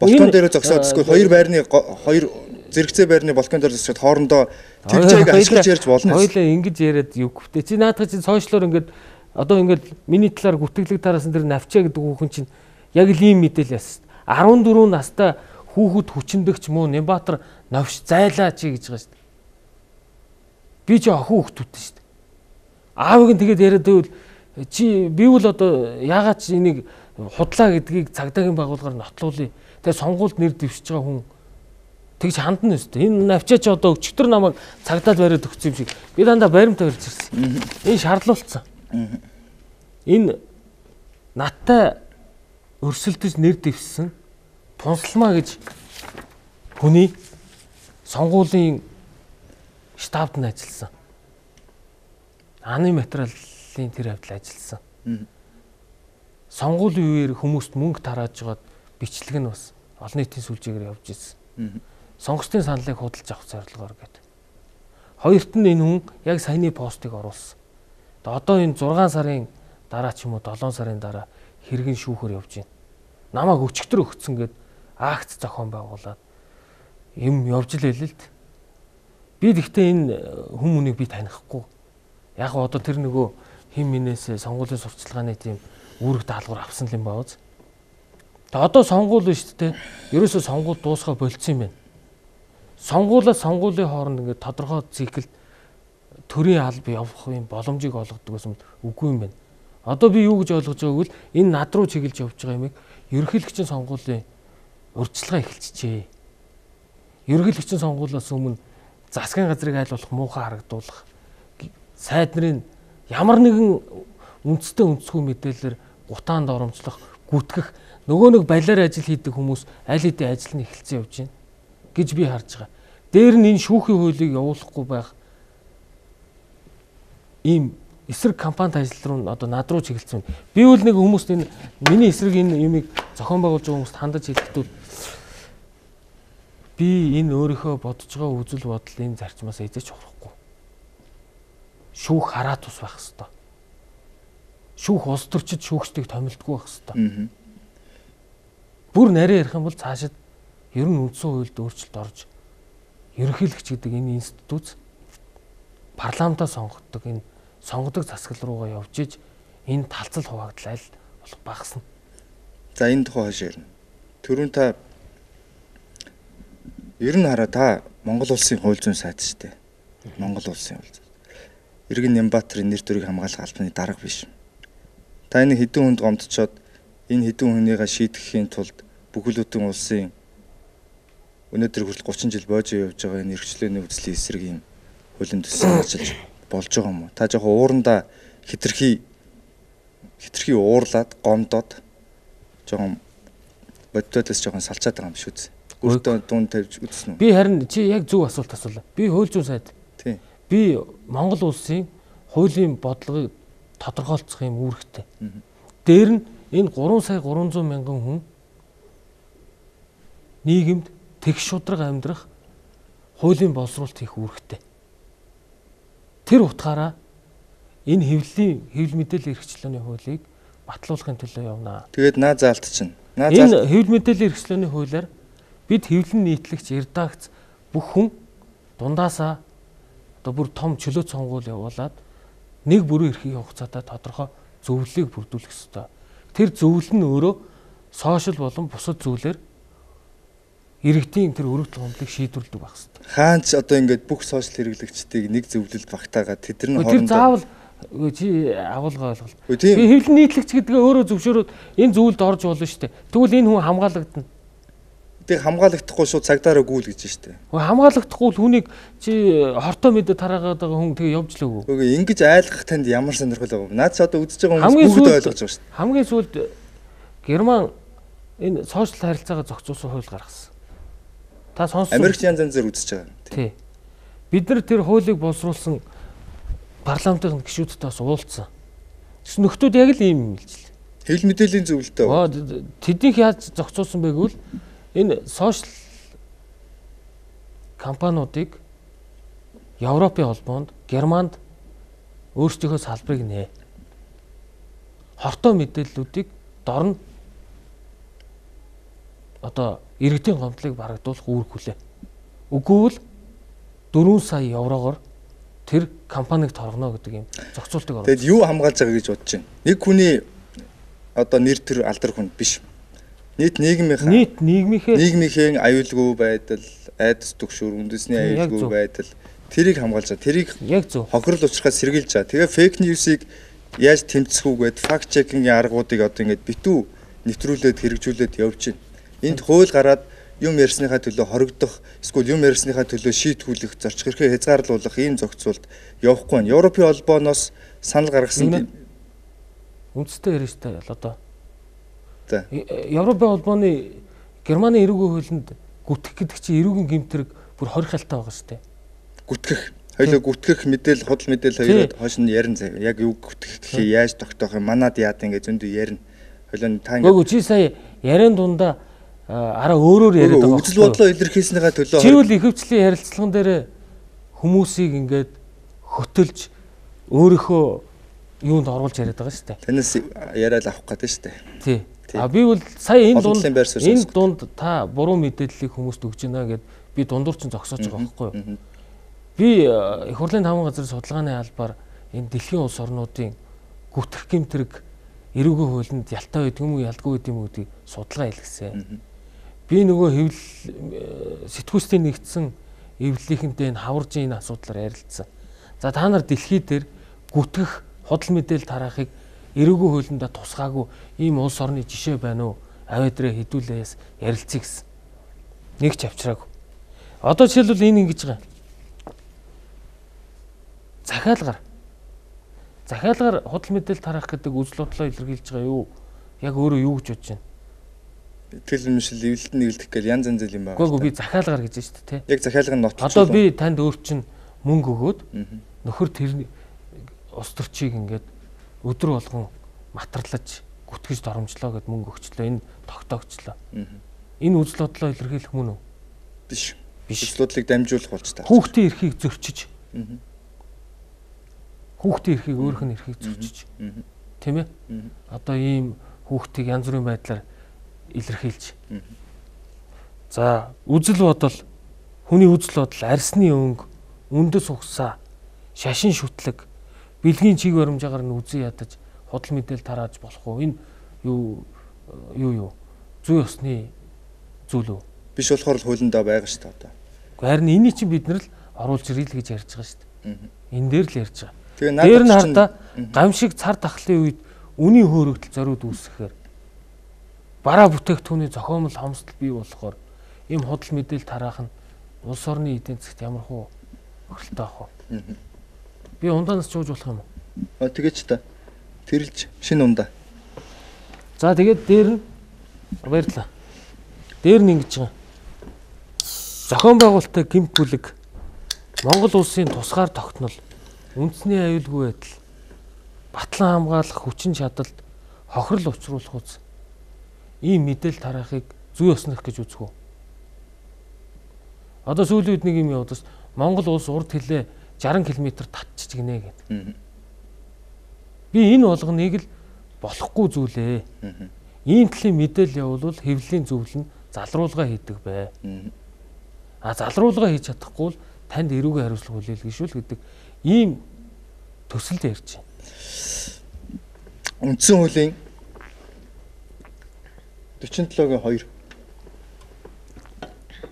балкон дээр зогсоод эсвэл хоёр байрны хоёр зэрэгцээ байрны балкон дээр зогсоод хоорондоо тэгжээг ашиглаж ярьж болно. Хоёулаа ингэж яриад югвтэй. Чи наадах чинь сошиалор ингээд одоо ингээд миний талаар гүтгэлэг тараасан дэр навчаа гэдэг хүүхэн чинь яг л ийм мэдээлэл яасан. арван дөрвөн настай хүүхэд хүчндэгч муу Нямбатар новш зайлаа чи гэж байгаа шүү дээ. Би чи охин хүүхдүүдтэй шүү дээ. Аавыг нь тэгээд яриад байвал чи би бол одоо яагаад чи энийг худлаа гэдгийг цагдаагийн байгууллагаар нотлуулъя. Тэгээд сонгуульд нэр дэвшиж байгаа хүн тэгж хандна өстэй. Энэ навчаач одоо өчтөр намайг цагдаад бариад өгсөн юм шиг. Би дандаа баримтаа барьж ирсэн. Энэ шаарлуулсан. Энэ надтай өрсөлдөж нэр дэвшсэн Пунсалмаа гэж хүний сонгуулийн штабд нь ажилласан. Аны материалын тэр хавьд ажилласан. Сонгуулийн үеэр хүмүүст мөнгө тарааж жагаад бичлэг нь бас олон нийтийн сүлжээгээр явж ирсэн. Сонгогчдын саналыг худалдаж авах зорилгоор гэдэг. Хоёрт нь энэ хүн яг саяны постыг оруулсан. Одоо энэ зургаан сарын дараа ч юм уу долоон сарын дараа хэрхэн шүүхээр явж байна. Намайг өчигдөр өгцөн гэд акц зохион байгуулад юм явж л хэлээ л д. Би гэхдээ энэ хүмүүнийг би танихгүй. Яг гоо одоо тэр нөгөө хин минээс сонгуулийн сурталчилгааны тийм үүрэг даалгавар авсан юм бааз. Тэгээ одоо сонгуул нь шүү дээ. Ерөөсөө сонгуул дуусгаа болцсон юм байна. Сонгуулаа сонгуулийн хооронд ингээд тодорхой циклд төрийн алба явах юм боломжийг олгодог гэсэн үгүй юм байна. Одоо би юу гэж ойлгож байгааг бол энэ над руу чиглэж явж байгаа юмыг ерөнхийлөгчийн сонгуулийн урьдчилгаа эхэлчихжээ. Ерөнхийлөгчийн сонгуулиас өмнө засгийн газрыг айл болох муухай харагдуулах, сайд нарын ямар нэгэн үндэстэй үндэсгүй мэдээлэлээр гутаанд оромжлох, гүтгэх, нөгөө нэг балиар ажил хийдэг хүмүүс аль хэдийн ажил нь эхэлсэн явж байна гэж би харж байгаа. Дээр нь энэ шүүхийн хуулийг явуулахгүй байх ийм эсрэг компанид ажил руу одоо над руу чиглэлсэн. Би үл нэг хүмүүст энэ миний эсрэг энэ юмыг зохион байгуулж байгаа хүмүүст хандаж хэлэхдээ би энэ өөрийнхөө бодож байгаа үзэл бодол энэ зарчмаас эзэж ухрахгүй. Шүүх хараа тус байх хэвээр. Шүүх улс төрчид шүүгчдийг томилдгүй байх хэвээр. Бүр нарийн ярих юм бол цаашид ер нь үндсэн хуульд өөрчлөлт орж ерөнхийлөгч гэдэг энэ институт парламентаа сонгодог энэ сонгодог засаг руугаа явж иж энэ талцал хуваагдал аль болох багасна. За энэ тухай хойш ярина. Түрүүн та ер нь хараа та Монгол улсын хууль зүйн сайд шүү дээ. Монгол улсын хууль зүйн. Иргэн Нямбатарын нэр төрийг хамгаалах албаны дарга биш. Та энэ хэдэн хүнд гомдчоод энэ хэдэн хүнийгээ шийдэхийн тулд бүхэлдэн улсын өнөөдөр хүртэл гучин жил боожоо явж байгаа энэ эрхчлөөний үзлийн эсрэг юм хуулийн төсөл ажиллаж болж байгаа юм уу? Та жоохон уурандаа хитрхи хитрхи уурлаад гомдоод жоохон бодтоодоос жоохон салчаад байгаа юм шүү дээ. Өөртөө дуун тавьж үзсэн үү? Би харин чи яг зөв асуулт асуулаа. Би хууль зүйн сайд. Тийм. Би Монгол улсын хуулийн бодлогыг тодорхойлцох юм үүрэгтэй. Дээр нь энэ гурван сая гурван зуун мянган хүн нийгэмд тэгш шудраг амьдрах хуулийн боловсруулалт хийх үүрэгтэй. Тэр утгаараа энэ хэвлэлийн хэвлэл мэдээллийн эрхчлөөний хуулийг батлуулахын төлөө явна. Тэгээд наа заалт чинь. Наа заалт. Энэ хэвлэл мэдээллийн эрхчлөөний хуулиар бид хэвлэн нийтлэгч редакц бүх хүн дундаасаа одоо бүр том чөлөө сонгуул явуулаад нэг бүрэн эрхийн хугацаатай тодорхой зөвлөлийг бүрдүүлэх ёстой. Тэр зөвлөл нь өөрөө сошиал болон бусад зүйлээр иргэдийн тэр өргөдөл гомдлыг шийдвэрлэдэг байх ёстой. Хаанч одоо ингээд бүх сошиал хэрэглэгчдийг нэг зөвлөлд багтаагаад тэд нар хоорондоо тэр заавал чи агуулга ойлголт. Би хэвлэн нийтлэгч гэдгээ өөрөө зөвшөөрөөд энэ зөвлөлд орж болно шүү дээ. Тэгвэл энэ хүн хамгаалагдана. Тэг хамгаалагдахгүй шууд цагдаараа гүйл гэж штэ. Хөө хамгаалагдахгүй л хүнийг чи хортой мэдээ тараагаад байгаа хүн тэгээ явж л өгөө. Үгүй ингэж айлгах танд ямар сонирхол байгаа юм. Наад ч одоо үзэж байгаа хүмүүс бүгд ойлгож байгаа штэ. Хамгийн сүүлд Герман энэ сошиал харилцаагаа зохицуулсан хууль гаргасан. Та сонссон. Америкч янз янзаар үзэж байгаа. Тий. Бид нар тэр хуулийг боловсруулсан парламентын гишүүдтэй бас уулзсан. Тэс нөхдүүд яг л ийм юм хэлжлээ. Хэвлэл мэдээллийн зөвлөлтөө. Тэднийх яаж зохицуулсан бэ гэвэл энэ сошиал компаниудыг Европын холбоонд Германд өөрсдийнхөө салбарыг нээ. Хортой мэдээллүүдийг дор нь одоо иргэдийн гомдлыг барагдуулах үүрэг хүлээ. Үгүй бол дөрвөн сая еврогоор тэр компанийг торгоно гэдэг юм зохицуултыг оруулсан. Тэгэд юу хамгаалж байгаа гэж бодож байна? Нэг хүний одоо нэр төр алдар хүн биш. Нийт нийгмийнхаа нийт нийгмийнхээ нийгмийнхээ аюулгүй байдал, айдас түгшүүр, үндэсний аюулгүй байдал тэрийг хамгаалж байгаа. Тэрийг яг зөв хохирол учрахаас сэргийлж байгаа. Тэгээ фейк ньюсыг яаж тэмцэх үгээд факт чекингийн аргуудыг одоо ингээд битүү нэвтрүүлээд хэрэгжүүлээд явж байна. Энд хууль гараад юм ярьсныхаа төлөө хоригдох, эсвэл юм ярьсныхаа төлөө шийтгүүлэх, зорчих хэрхээ хязгаарлуулах ийм зохицуулт явахгүй байна. Европын холбооноос санал гаргасан үндэстэй ярьжтэй одоо Европын холбооны Германы эрүүгийн хуулинд гүтгэх гэдэг чинь эрүүгийн гэмтрэг бүр хорих хальтаа байгаа шүү дээ. Гүтгэх. Хоёлоо гүтгэх мэдээлэл, худал мэдээлэл хоёроо хойш нь ярина заяа. Яг юу гүтгэх гэхээ яаж тогтоох юм, манад яад ингэ зөндөө ярина. Хоёлоо та ингэ. Гүг чи сая ярен дундаа араа өөрөөр яриад байгаа. Үзэл бодлоо илэрхийлснийхаа төлөө чи үл ихэвчлэн ярилцлаган дээр хүмүүсийг ингээд хөтөлж өөрийнхөө юунд оруулж яриад байгаа шүү дээ. Танаас яриад авах гэдэг шүү дээ. Тий. А би бол сая энэ дунд энэ дунд та буруу мэдээллийг хүмүүст өгч байна гэд би дундуур чинь зогсоож байгаа байхгүй юу? Би их хурлын таван газрын судалгааны албаар энэ дэлхийн улс орнуудын гүтгэх гэмтрэг эрүүгийн хуулинд ялтай байдаг юм уу, ялдгүй байдаг юм уу гэдгийг судалгаа хийлгэсэн. Би нөгөө хэвлэл сэтгүүлчдийн нэгдсэн эвлэлийнхэнтэй энэ хаваржийн энэ асуудлаар ярилцсан. За та нар дэлхий дээр гүтгэх худал мэдээлэл тараахыг эрүүгүй хуулиндаа тусгаагүй ийм улс орны жишээ байна уу? Авиадраа хэдүүлээс ярилцъя гэсэн. Нэг ч авчраагүй. Одоо жишээлбэл энэ ингэж байгаа. Захиалгаар. Захиалгаар худал мэдээлэл тараах гэдэг үзэл бодлоо илэрхийлж байгаа юу? Яг өөрөө юу гэж бодож байна? Итгэл үнэмшил эвлэлд нэгэлдэх гэж янз янз юм байна. Гэхдээ би захиалгаар гэж байна шүү дээ, тий. Яг захиалгын нотлох. Одоо би танд өөр чинь мөнгө өгөөд нөхөр тэр ус төрчийг ингээд өдөр болгон матарлаж гүтгэж доромжлоо гэд мөнгө өгчлөө. Энэ тогтоогчлоо. Энэ үзэл бодлоо илэрхийлэх мөн үү? Биш. Үзэл бодлыг дамжуулах болж таа. Хүүхдийн эрхийг зөрчиж. Хүүхдийн эрхийг өөрөх нь эрхийг зөрчиж. Тийм ээ? Одоо ийм хүүхдийг янз бүрийн байдлаар илэрхийлж. За, үзэл бодол, хүний үзэл бодол, арсны өнгө, үндэс угсаа, шашин шүтлэг, бэлгийн чиг баримжаагаар нь үзэн ядаж худал мэдээлэл тарааж болох уу? Энэ юу юу юу? Зүй ёсны зүйл үү? Биш болохоор л хуулиндаа байгаа шүү дээ одоо. Харин энийг чинь бид нар л оруулж ирэл гэж ярьж байгаа шүү дээ. Энэ дээр л ярьж байгаа. Тэгээ дээр нь хардаа гамшиг цар тахлын үед үний хөөрөгдөл зориуд үүсгэхээр бараа бүтээгдэхүүний зохиомл хомсдол бий болохоор ийм худал мэдээлэл тараах нь улс орны эдийн засгт ямар хуу хөрөлтэй ах вэ? Би ундаанаас жууж болох юм уу? Аа тэгэж та. Тэрэлж шинэ ундаа. За тэгээд дээр нь баярлаа. Дээр нь ингэж байгаа. Зохион байгуулалттай гэмт бүлэг Монгол улсын тусгаар тогтнол үндэсний аюулгүй байдал батлан хамгаалах хүчин чадалд хохирол учруулах үз. Ийм мэдээлэл тараахыг зүй ёснох гэж үзэх үү? Одоо сүүлийн үед нэг юм яваад бас Монгол улс урд хилээ жаран километр татчих гинэ гэдэг. Би энэ болгоныг л болохгүй зүйлээ. Ийм төрлийн мэдээлэл явуулвал хэвлэлийн зөвлөл нь залруулга хийдэг бай. А залруулга хийж чадахгүй л танд эрүүгийн хариуцлага хүлээлгэшүүл гэдэг ийм төсөл ярьж байна. Үндсэн хуулийн дөрвөн долоогийн хоёр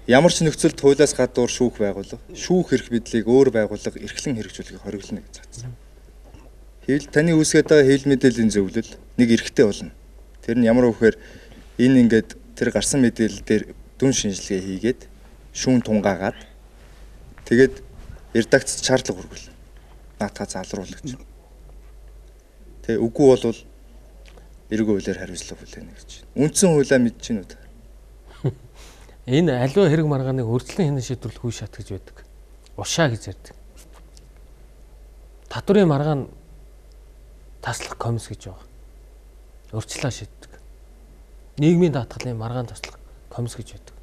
ямар ч нөхцөлд хуулиас гадуур шүүх байгуулга, шүүх эрх бидлийг өөр байгуулга эрхлэн хэрэгжүүлэхийг хориглоно гэж заасан. Хэвлэл таны үүсгээд байгаа хэвлэл мэдээллийн зөвлөл нэг эрхтэй болно. Тэр нь ямар вэхээр энэ ингээд тэр гарсан мэдээлэл дээр дүн шинжилгээ хийгээд шүүн тунгаагаад тэгээд редакцид шаардлага хүргэл. Наатаа залруулах гэж. Тэгээ үгүй болвол эргүү хуулиар хариуцлага хүлээнэ гэж. Үндсэн хуулиа мэдэж гинүү та. Энэ аливаа хэрэг маргааныг өрчлөн хянан шийдвэрлэх үе шат гэж байдаг. Ушаа гэж ярьдаг. Татврын маргаан таслах комисс гэж байгаа. Өрчлөө шийддэг. Нийгмийн даатгалын маргаан таслах комисс гэж байдаг.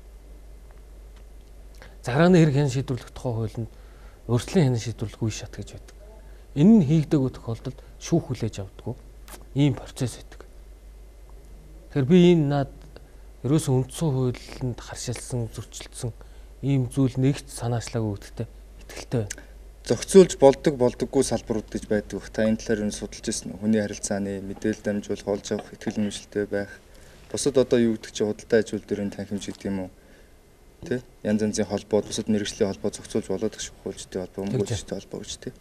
Захиргааны хэрэг хянан шийдвэрлэх тухай хуулинд өрчлөн хянан шийдвэрлэх үе шат гэж байдаг. Энэ нь хийгдэггүй тохиолдолд шүүх хүлээж авдаггүй ийм процесс байдаг. Тэгэхээр би энэ над ерөөсөн үндсэн хуулинд харшилсан, зөрчилдсөн ийм зүйл нэгт санаачлаагүй гэдэгт итгэлтэй байна. Зохицуулж болдог болдоггүй салбарууд гэж байдаг. Та энэ талаар юу судалж ирсэн үү? Хүний харилцааны мэдээлэл дамжуулах, олж авах, итгэл үнэмшилтэй байх. Бусад одоо юу гэдэг чинь худалдаа ажил дөрөв танхимж гэдэг юм уу? Тэ? Янз янзын холбоо, бусад мэргэжлийн холбоо зохицуулж болоод их шүүхүүлжтэй холбоо, мөнгөлжтэй холбоо гэж тэ.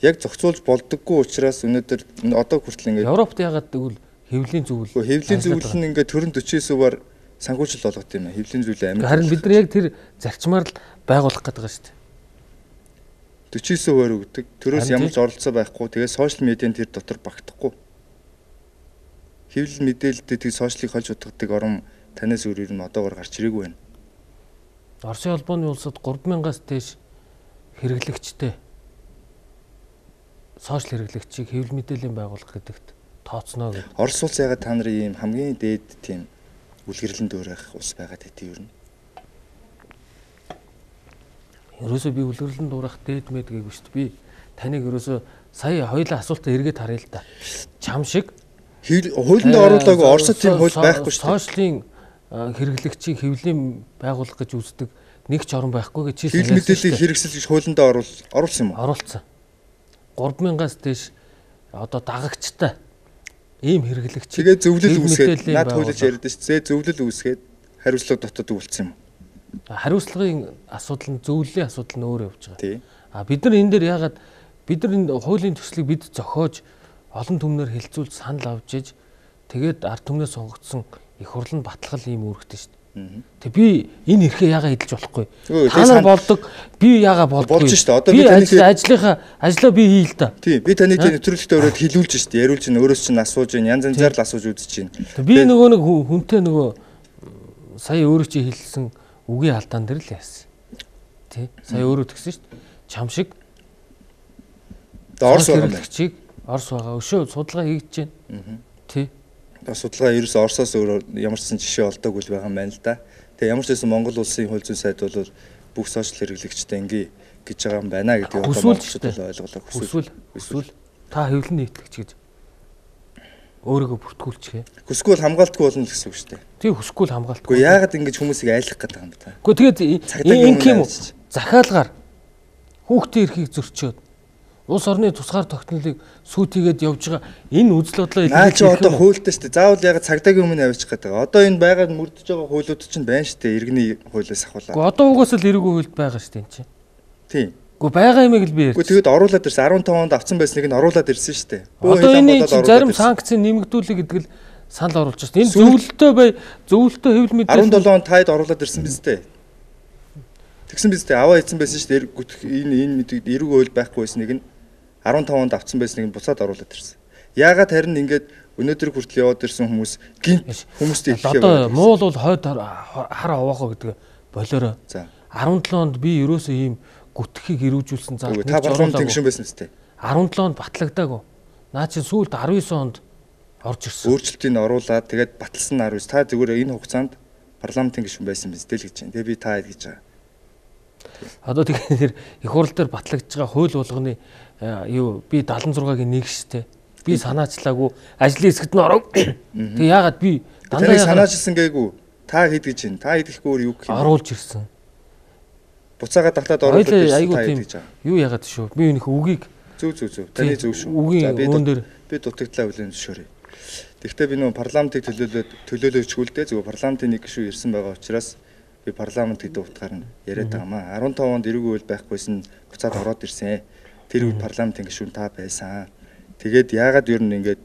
Яг зохицуулж болдоггүй учраас өнөөдөр одоо хүртэл ингээд Европт ягаад гэвэл хэвлэлийн зөвлөл. Хэвлэлийн зөвлөл нь ингээд төрөн forty nine суваар санхүүжил болгох юм аа. Хэвлэлийн зөвлөл амин. Харин бид нар яг тэр зарчмаар л байгуулах гэдэг байгаа шүү дээ. forty nine суваар өгдөг. Төрөөс ямар ч оролцоо байхгүй. Тэгээд сошиал медиан тэр дотор багтахгүй. Хэвлэл мэдээлэлтэй тэг сошиалыг холж утгадаг орон танаас өөрөөр нь одоогор гарч ирээгүй байна. Оросын холбооны улсад three thousand-аас дээш хэрэглэгчтэй сошиал хэрэглэгчийг хэвлэл мэдээллийн байгууллага гэдэгт тооцноо гэдэг. Орос улс ягаад та нарын ийм хамгийн дээд тийм үлгэрлэн дуурайх улс байгаад хэдий юу юм? Ерөөсөө би үлгэрлэн дуурайх дээд мэд гээгүү шүү дээ. Би таныг ерөөсөө сая хоёулаа асуултаа эргээд харъя л да. Чам шиг хуулинд оруулаагүй Оросд тийм хууль байхгүй шүү дээ. Сошиалын хэрэглэгчийг хэвлэлийн байгууллага гэж үздэг нэг ч орн байхгүй гэж хэлсэн. Хэвлэл мэдээллийг хэрэгсэл гэж хуулинд оруул оруулсан юм уу? Оруулсан. three thousand-аас дээш одоо дагагчтай ийм хэрэглэгч. Тэгээ зөвлөл үүсгээд наад хуулиж яриад шүү дээ. Зөвлөл үүсгээд хариуцлага дотоод үлдсэн юм. Хариуцлагын асуудал нь зөвлөлийн асуудал нь өөр явж байгаа. А бид нар энэ дээр ягаад бид нар энэ хуулийн төслийг бид зохиож олон түмнэр хэлцүүлж санал авч иж тэгээд ард түмнээ сонгогдсон их хурл нь баталгал ийм үүрэгтэй шүү дээ. Тэг би энэ эрхээ ягаа эдэлж болохгүй. Та нар болдог би ягаа болдгүй. Болж шүү дээ. Одоо би ажлынхаа ажлаа би хий л да. Тийм би таны тийм нэвтрүүлэгтээ өрөөд хэлүүлж шүү дээ. Яриулж чинь өөрөөс чинь асууж чинь янз янзаар л асууж үзэж чинь. Би нөгөө нэг хүнтэй нөгөө сая өөрөө чи хэлсэн үгийн алдаан дээр л яасан. Тий. Сая өөрөө тэгсэн шүү дээ. Чам шиг Орос байгаа чиг Орос байгаа. Өшөө судалгаа хийж байна. Тий. Судалгаа ерөөс Оросоос өөр ямар ч жишээ олдоогүй л байгаа юм байна л да. Тэгээ ямар ч байсан Монгол улсын хууль зүйн сайд бол бүх сошиал хэрэглэгчтэй ингээ гэж байгаа юм байна гэдгийг одоо монголчууд бол ойлголоо. Хүсвэл хүсвэл та хэвлэн нийтлэгч гэж өөрийгөө бүртгүүлчихээ. Хүсгүй бол хамгаалтгүй болно л гэсэн үг шүү дээ. Тий хүсгүй л хамгаалтгүй. Гэхдээ яагаад ингэж хүмүүсийг айлах гэдэг юм бэ та? Гэхдээ тэгээд энэ юм захиалгаар хүүхдийн эрхийг зөрчөөд улс орны тусгаар тогтнолыг сүйтгэгээд явж байгаа энэ үзэл бодлоо наа чи одоо хуультай шүү дээ. Заавал ягаад цагдаагийн өмнө авчих гэдэг. Одоо энэ байгаад мөрдөж байгаа хуулиуд чинь байна шүү дээ. Иргэний хуулиас ахуулаад. Гэхдээ одоо угаасаа л эрүүгийн хуульд байгаа шүү дээ энэ чинь. Тийм. Гэхдээ байгаа юмыг л би ярьж. Гэхдээ тэгээд оруулаад ирсэн арван таван онд авсан байсныг нь оруулаад ирсэн шүү дээ. Одоо энэ зарим санкц нэмэгдүүлэх гэдэг л санал оруулж байна. Энэ зөвлөлтөө бай зөвлөлтөө хэвлэл мэдээ арван долоо онд таад оруулаад ирсэн биз дээ. Тэгсэн биз дээ. Аваа ийдсэн байсан шүү дээ. Энэ энэ мэдээ эрүүгийн хууль байхгүй байсныг нь арван таван онд авсан байсныг нь буцаад оруулаад ирсэн. Яагаад харин ингээд өнөөдөр хүртэл яваад ирсэн хүмүүс гинт хүмүүстэй хэлхээ одоо муул бол хойд хар овоохоо гэдэг болоорой. За арван долоо онд би ерөөсөө ийм гүтгэхийг эрүүжүүлсэн зал та парламентын гишүүн байсан үстэй. арван долоо онд батлагдаагүй. Наа чи сүүлд арван девять онд орж ирсэн. Өөрчлөлтийг оруулаад тэгээд баталсан нь арван девять. Та зүгээр энэ хугацаанд парламентын гишүүн байсан биз дээ л гэж байна. Тэгээ би та хэд гэж байгаа. Одоо тэгэхээр их хурл дээр батлагдж байгаа хууль болгоны юу би седемдесет и шестагийн нэг штэ. Би санаачлаагүй ажлын хэсэгт нь оров. Тэг яагаад би дандаа санаачилсан гээгүй. Та хэд гэж байна? Та хэдэхгүй өөр юу гэх юм? Оруулж ирсэн. Буцаага татаад оруулаад ирсэн та хэд гэж байгаа. Юу яагаад шүү? Би өнөх үгийг зөв зөв зөв. Таны зөв шүү. За би би дутагдлаа хүлээн зөвшөөрье. Тэгэхдээ би нөө парламентыг төлөөлөөд төлөөлөөчгүй л дээ. Зөвхөн парламентын нэг гишүү ирсэн байгаа учраас би парламент гэдэг утгаар нь яриад байгаа маа. арван таван онд эрүүгийн хууль байхгүйсэн буцаад ороод ирсэн. Тэр үед парламентын гишүүн та байсан. Тэгээд яагаад ер нь ингээд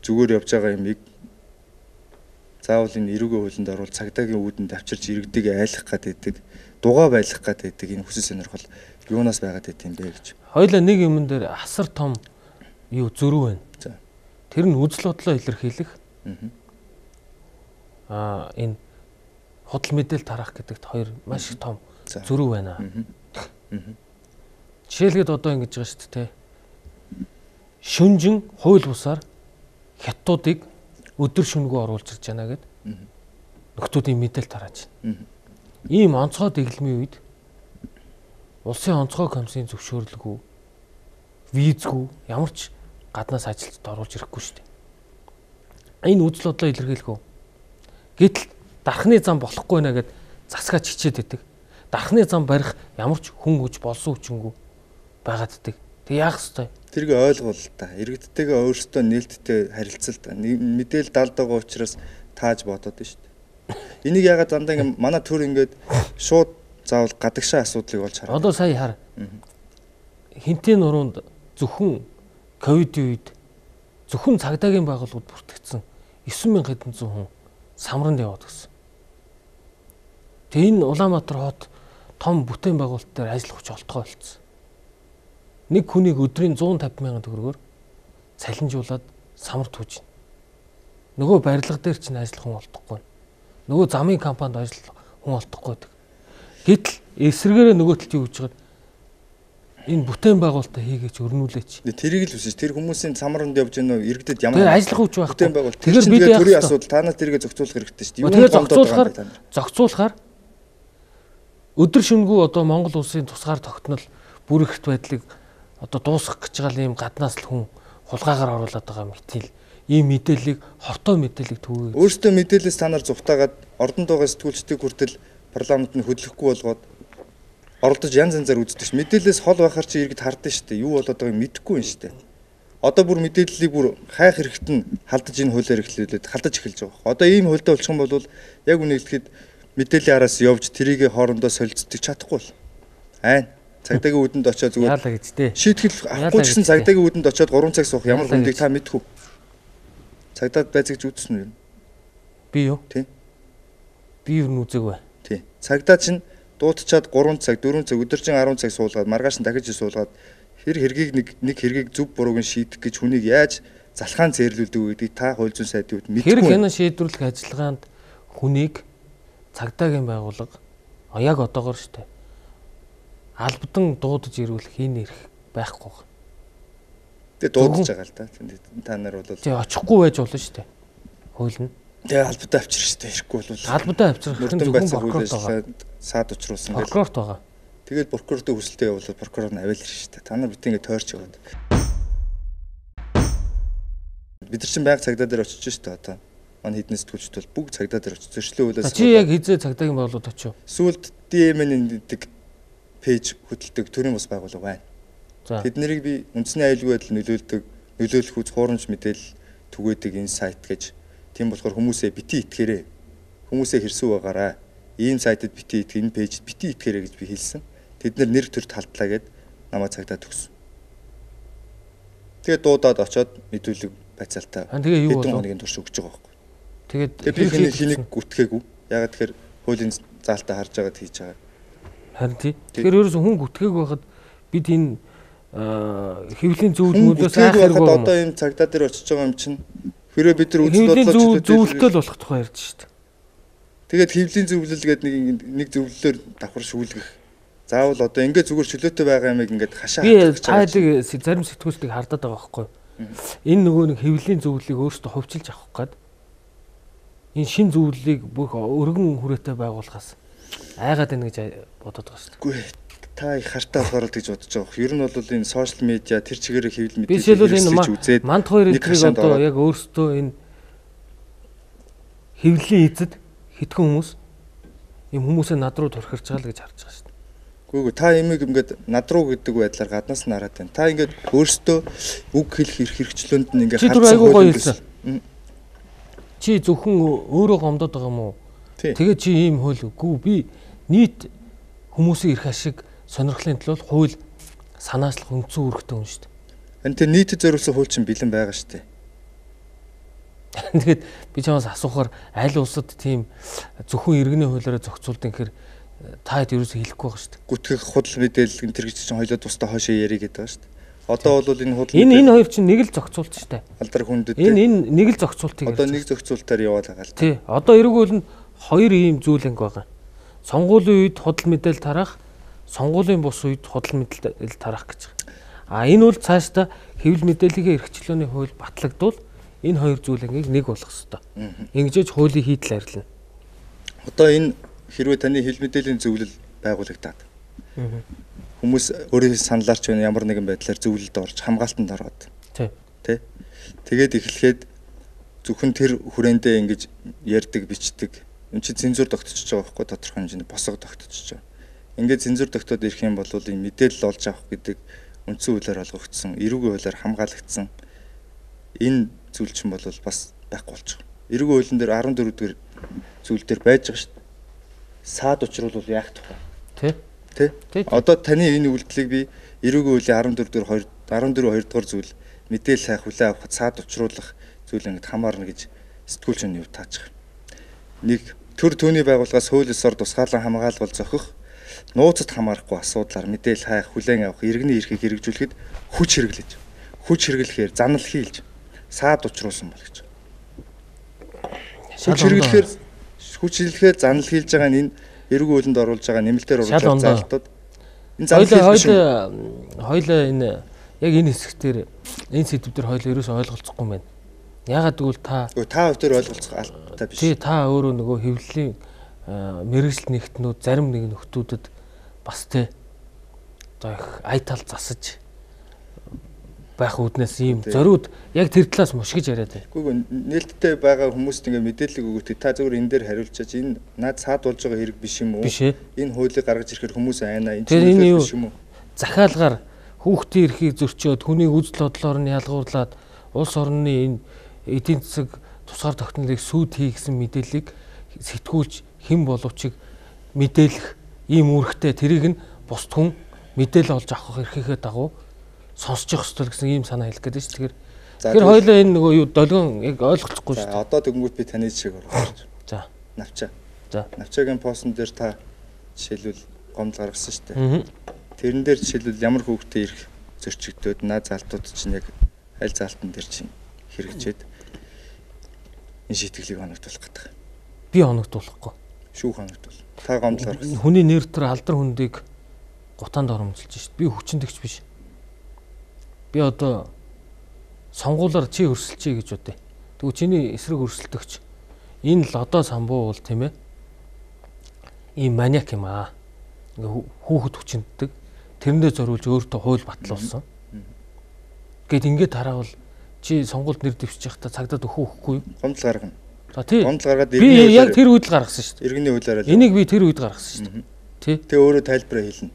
зүгээр явж байгаа юмыг заавал энэ эрүүгийн хуулинд оруул цагдаагийн үүдэнд авчирч иргэдийг айлах гэдэг, дугаа байлгах гэдэг энэ хүсэл сонирхол юунаас байгаад байт юм бэ гэж. Хоёлаа нэг юмн дээр асар том юу зөрүү байна. За. Тэр нь үзэл бодлоо илэрхийлэх. Аа энэ худал мэдээлэл тараах гэдэгт хоёр маш их том зөрүү байна. Жишээлгээд одоо ингэж байгаа шүү дээ. Шүнжин хууль бусаар хятадуудыг өдөр шөнөгөө оруулж ирж байна гэд нөхдүүдийн мэдээлэл тарааж байна. Ийм онцгой дэглэмийн үед улсын онцгой комиссийн зөвшөөрлгүй визгүй ямар ч гаднаас ажилтнууд оруулж ирэхгүй шүү дээ. Энэ үзэл бодлоо илэрхийлэх үү. Гэтэл дархны зам болохгүй нэ гэд засгаач хичээд байдаг. Дархны зам барих ямар ч хүн хүч болсон хүчингүй байгаад байдаг. Тэг яах ёстой? Тэрийг ойлгуул та. Иргэдтэйгээ өөрсдөө нээлттэй харилцал та. Мэдээл далд байгаа учраас тааж бодоод байна шүү дээ. Энийг ягаад дандаа ингэ манай төр ингээд шууд заавал гадагшаа асуудлыг болж хараа. Одоо сая хар. Хинтээ нуруунд зөвхөн ковидын үед зөвхөн цагдаагийн байгууллагууд бүртгэгдсэн девять мянга хэдэн зуун хүн самранд яваад гисэн. Тэгээ энэ Улаанбаатар хот том бүтээн байгуулалт дээр ажиллах хүч олдгоо болцсон. Нэг хүнийг өдрийн one fifty мянган төгрөгөөр цалинжуулаад самар түүж байна. Нөгөө барилга дээр чинь ажиллах хүн олдохгүй. Нөгөө замын компанид ажиллах хүн олдохгүй байдаг. Гэтэл эсрэгээрээ нөгөө талд юу гэж байгаа энэ бүтээн байгуулалтаа хийгээч өрнүүлээч. Тэрийг л үсэж тэр хүмүүсийн самранд явж гэнэ иргэдэд ямар ажиллах хүч байх. Бүтээн байгуулалт. Тэгэхээр бид төрийн асуудал танаас тэргээ зохицуулах хэрэгтэй шүү дээ. Юу зохицуулахаар зохицуулахаар өдөр шөнөгүй одоо Монгол улсын тусгаар тогтнол бүрэгт байдлыг одоо дуусгах гэж байгаа юм гаднаас л хүн хулгаагаар оруулаад байгаа мэтэл ийм мэдээллийг хортой мэдээллийг түгээе. Өөртөө мэдээлэлс та нар зүгтаагаад ордонд байгаа сэтгүүлчдийг хүртэл парламентд хөдлөхгүй болгоод оролдож янз янзаар үздэг ш. Мэдээлэлс хол байхаар чи иргэд хардсан шүү дээ. Юу болоод байгааг мэдэхгүй юм шүү дээ. Одоо бүр мэдээллийг бүр хайх хэрэгт нь халдаж энэ хуулиар эхлүүлээд халдаж эхэлж байгаа. Одоо ийм хуультай болчих юм бол яг үнийг хэлэхэд мэдээллийн араас явж тэрийг хоорондоо солилцдог чадахгүй бол. Айн. Цагдаагийн үүдэнд очиод зүгээр яалаа гэж дээ. Шийтгэл авахгүй ч гэсэн цагдаагийн үүдэнд очиод гурван цаг суух ямар хүндийг та мэдэх үү? Цагдаад байцаагч үзсэн үү? Би юу? Тийм. Би юу нүзэг бай. Тийм. Цагдаа чинь дуутчаад гурван цаг, дөрвөн цаг, өдөржин арван цаг суулгаад маргааш нь дахиж суулгаад хэр хэргийг нэг нэг хэргийг зөв бурууг нь шийдэх гэж хүнийг яаж залхаан зээрлүүлдэг вэ гэдгийг та хууль зүйн сайдын үед мэдгүй. Хэрэг хянаа шийдвэрлэх ажиллагаанд хүнийг цагдаагийн байгууллага яг одоогоор штэ албадан дуудаж ирүүлэх энэ эрх байхгүй байна. Тэгээ дуудаж байгаа л да. Та нар бол тий очихгүй байж болно штэ. Хууль нь. Тэгээ албадаа авчрах штэ. Ирэхгүй бол албадаа авчрах нь зөвхөн прокурорт байгаа. Саад учруулсан гэл. Прокурорт байгаа. Тэгээд прокурортой хүсэлтээ явуулаад прокурор нь аваал ирж штэ. Та нар бид ингэ тойрч яваад. Бид нар чинь байнга цагдаа дээр очиж штэ одоо. Манай хэдэн сэтгүүлчд бол бүгд цагдаа дээр очиж зөрчлөө хуулиас. Чи яг хизээ цагдаагийн байгууллагад очив. Сүүлд ди эм эн гэдэг пэйж хөтэлдэг төрийн бас байгууллага байна. За. Тэд нарыг би үндэсний аюулгүй байдал нөлөөлдөг, нөлөөлөх үз хуурамч мэдээлэл түгээдэг энэ сайт гэж. Тийм болохоор хүмүүсээ бити итгээрэй. Хүмүүсээ хэрсүү байгаарай. Ийм сайтад бити итгэх, энэ пэйжд бити итгээрэй гэж би хэлсэн. Тэд нар нэр төр талдлаа гэд намайг цагдаа төгсөн. Тэгээд дуудаад очоод мэдүүлэг байцаалтаа. Тэгээ юу болов? Хэдэн хоногийн турш өгч байгаа байхгүй. Тэгээд би хэнийг хэнийг гүтгээгүй. Ягаад тэгэхээр хуулийн заалтаа харж байгаад хийж байгаа. Харин тий. Тэгэхээр ерөөс хүн гүтгээгүй байхад бид энэ хэвлэлийн зөвлөмүүдээс айх хэрэггүй. Одоо энэ цагдаа дээр очиж байгаа юм чинь хэрэг бид нар үзэл бодлоо зөвлөлтөл болох тухай ярьж шít. Тэгээд хэвлэлийн зөвлөл гэдэг нэг нэг зөвлөлөөр давхар шүүлгэх. Заавал одоо ингээд зүгээр чөлөөтэй байгаа юмыг ингээд хашаа хатчих. Би цаадыг зарим сэтгүүлчдийг хардаад байгаа байхгүй. Энэ нөгөө нэг хэвлэлийн зөвлөлийг өөртөө хувьчилж авах гээд энэ шин зөвлөлийг бүх өргөн хүрээтэй байгуулахаас айгаад байна гэж бодоод байгаа шүү дээ. Үгүй та их хартаа болохоор л гэж бодож байгаа. Ер нь бол энэ сошиал медиа тэр чигээрээ хэвлэл мэдээлэл үзээд манд хоёр эдрийг одоо яг өөрсдөө энэ хэвлэлийн эзэд хитгэн хүмүүс юм хүмүүсээ над руу турхирч байгаа л гэж харж байгаа шүү дээ. Үгүй та имийг ингээд над руу гэдэг байдлаар гаднаас нь хараад байна. Та ингээд өөрсдөө үг хэлэх эрх хэрэгчлөөнд нь ингээд хардсан хууль. Чи зөвхөн өөрөө гомдоод байгаа юм уу? Тэгээд чи ийм хууль үгүй би нийт хүмүүсийн эрх ашиг сонирхлын төлөө хууль санаачлах үндсэн үүрэгтэй хүн шүү дээ. Энд тэр нийтэд зориулсан хууль чинь бэлэн байгаа шүү дээ. Тэгээд би чамаас асуухаар аль улсад тийм зөвхөн иргэний хуулиараа зохицуулдаг гэхээр та хэд ерөөсөө хэлэхгүй байгаа шүү дээ. Гүтгэх худал мэдээлэл энэ төр гэж чинь хоёлоо тусдаа хоошоо ярих гэдэг байгаа шүү дээ. Одоо бол энэ худал энэ энэ хоёр чинь нэг л зохицуулт шүү дээ. Алдар хүндэд энэ энэ нэг л зохицуултыг. Одоо нэг зохицуултаар яваад байгаа л. Тий. Одоо эргүүл нь хоёр ийм зүйл анги байгаа. Сонгуулийн үед худал мэдээлэл тараах, сонгуулийн бус үед худал мэдээлэл тараах гэж байгаа. А энэ бол цаашдаа хэвлэл мэдээллийн эрхчлөөний хууль батлагдвал энэ хоёр зүйл ангийг нэг болгох ёстой. Ингэж хуулийн хийдэл арилна. Одоо энэ хэрвээ таны хэвлэл мэдээллийн зөвлөл байгуулагдаад хүмүүс өөрийн саналаар ч ямар нэгэн байдлаар зөвлөлд орж хамгаалтанд ороод тий. Тэ. Тэгээд эхлэхэд зөвхөн тэр хүрээндээ ингэж ярьдаг, бичдэг. Энд чи цензур тогтчихж байгаа байхгүй тодорхой хэмжээний босго тогтчихж байгаа. Ингээд цензур тогтоод ирэх юм бол энэ мэдээлэл олж авах гэдэг үндсэн хуулиар олгогдсон, эрүүгийн хуулиар хамгаалагдсан энэ зүйл чинь бол бас байхгүй болж байгаа. Эрүүгийн хуулийн дээр арван дөрөв дугаар зүйл дээр байж байгаа шүү дээ. Саад учруулвал яах тухай. Тэ. Тэ. Одоо таны энэ үйлдэлийг би эрүүгийн хуулийн арван дөрөв дугаар арван дөрөв хоёр дугаар зүйл мэдээлэл хайх, хүлээн авахд саад учруулах зүйл ингээд хамаарна гэж сэтгүүлч нь юу тааж байгаа. Нэг төр төвний байгууллагаас хууль ёсоор тусгаалan хамгаалгал зохих, нууцад хамаарахгүй асуудлаар мэдээлэл хайх, хүлээн авах, иргэний эрхийг хэрэгжүүлэхэд хүч хэрэглэж, хүч хэрэглэхээр занал хийлж саад учруулсан бол гэж. Хүч хэрэглэхээр хүч хэрэглэхээр занал хийлж байгаа нь энэ эрүүгийн хуулинд оруулж байгаа нэмэлтээр оруулж байгаа залтууд энэ занал хийлж хоёлаа энэ яг энэ хэсгээр энэ сэдвээр хоёлаа ерөөсөй ойлголцохгүй юм байна. Ягаад гэвэл та та хоёр төр ойлголцох албатай биш. Тий, та өөрөө нөгөө хэвлэлийн мэрэгжил нэгтнүүд зарим нэг нөхдүүдэд бас тэ одоо их айтал засаж байх үүднээс ийм зориуд яг тэр талаас мушгиж яриад байна. Үгүй ээ, нээлттэй байгаа хүмүүст ингээ мэдээлэл өгөөд та зөвхөн энэ дээр хариулчаач энэ наад саад болж байгаа хэрэг биш юм уу? Энэ хуулийг гаргаж ирэхээр хүмүүс айна энэ чинь биш юм уу? Захиалгаар хүүхдийн эрхийг зөрчөөд хүний үзэл бодлоор нь ялгуурлаад улс орны энэ эдийн засаг тусгаар тогтнолыг сүйд хийгсэн мэдээллийг сэтгүүлч хэн боловч мэдээлэх ийм үүрэгтэй тэрийг нь бусд хүн мэдээлэл олж авах эрхийнхээ дагуу сонсчих ёстой гэсэн ийм санаа хэлэх гээд шүү. Тэгэхээр тэгэхээр хоёлаа энэ нөгөө юу долгион яг ойлгохгүй шүү. За одоо тэгэнгүүт би таны жишээг оруулж. За. Навчаа. За. Навчаагийн постн дээр та жишээлбэл гомдол гаргасан шүү дээ. Тэрэн дээр жишээлбэл ямар хүүхдээ ирэх зөрчигдөөд наа залтууд чинь яг аль залтан дээр чинь хэрэгжээд энэ шийтгэлийг хоногдуулах гэдэг. Би хоногдуулахгүй. Шүүх хоногдуул. Та гомдол гаргасан. Хүний нэр төр алдар хүндийг гутаанд оромжилж шүү дээ. Би хүчнэгч биш. Би одоо сонгуулаар чи өрсөлчээ гэж бодъё. Тэгвэл чиний эсрэг өрсөлдөгч энэ л одоо самбуу бол тийм ээ. Ийм маниак юм аа. Ингээ хүүхэд хүчнэддэг. Тэрэндээ зориулж өөртөө хууль батлуулсан. Гэт ингээд тараавал чи сонгуульд нэр дэвшчих та цагдаад өгөх үхгүй юу? Гомдол гаргана. За тий. Гомдол гаргаад би яг тэр үед л гаргасан шүү дээ. Иргэний хуулиараа. Энийг би тэр үед гаргасан шүү дээ. Тий. Тэгээ өөрөө тайлбараа хэлнэ.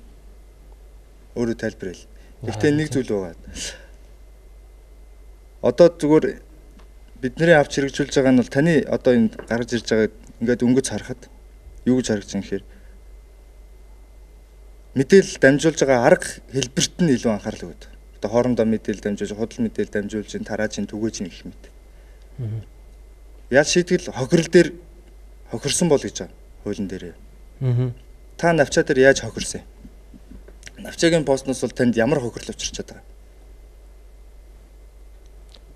Өөрөө тайлбараа хэл. Гэхдээ нэг зүйл байгаа. Одоо зүгээр бидний авч хэрэгжүүлж байгаа нь бол таны одоо энэ гарч ирж байгаа ингээд өнгөц харахад юу гэж харагдаж байгаа юм хэрэг мэдээлэл дамжуулж байгаа арга хэлбэрт нь илүү анхаарал өгöd. Одоо хоорондоо мэдээлэл дамжуулж, худал мэдээлэл дамжуулж, тарааж, түгээж гэх мэт. Яаж шийтгэл хохирол дээр хохирсон бол гэж байгаа хуулийн дээр. Та навчаа дээр яаж хохирсон? Навчаагийн постноос бол танд ямар хохирол учирчаад байгаа?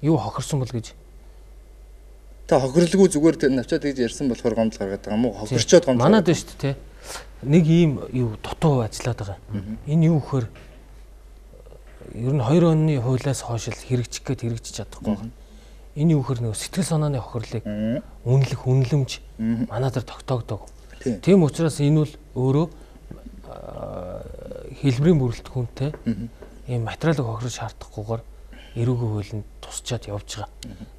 Юу хохирсон бол гэж? Та хохирлгүй зүгээр навчаад гэж ярьсан болохоор гомдол гаргаад байгаа юм уу? Хохирчоод гомдол. Манад байна шүү дээ. Нэг ийм юу дутуу ажиллаад байгаа. Энэ юу гэхээр ер нь хоёр оны хуулиас хойш л хэрэгжих гээд хэрэгжиж чадахгүй байна. Энэ юу гэхээр нэг сэтгэл санааны хохирлыг үнэлэх үнэлэмж манай дээр тогтоогдог. Тийм учраас энэ бол өөрөө хэлбэрийн бүрэлдэхүүнтэй ийм материалыг хохирох шаардахгүйгээр эрүүгийн хуулинд тусчаад явж байгаа.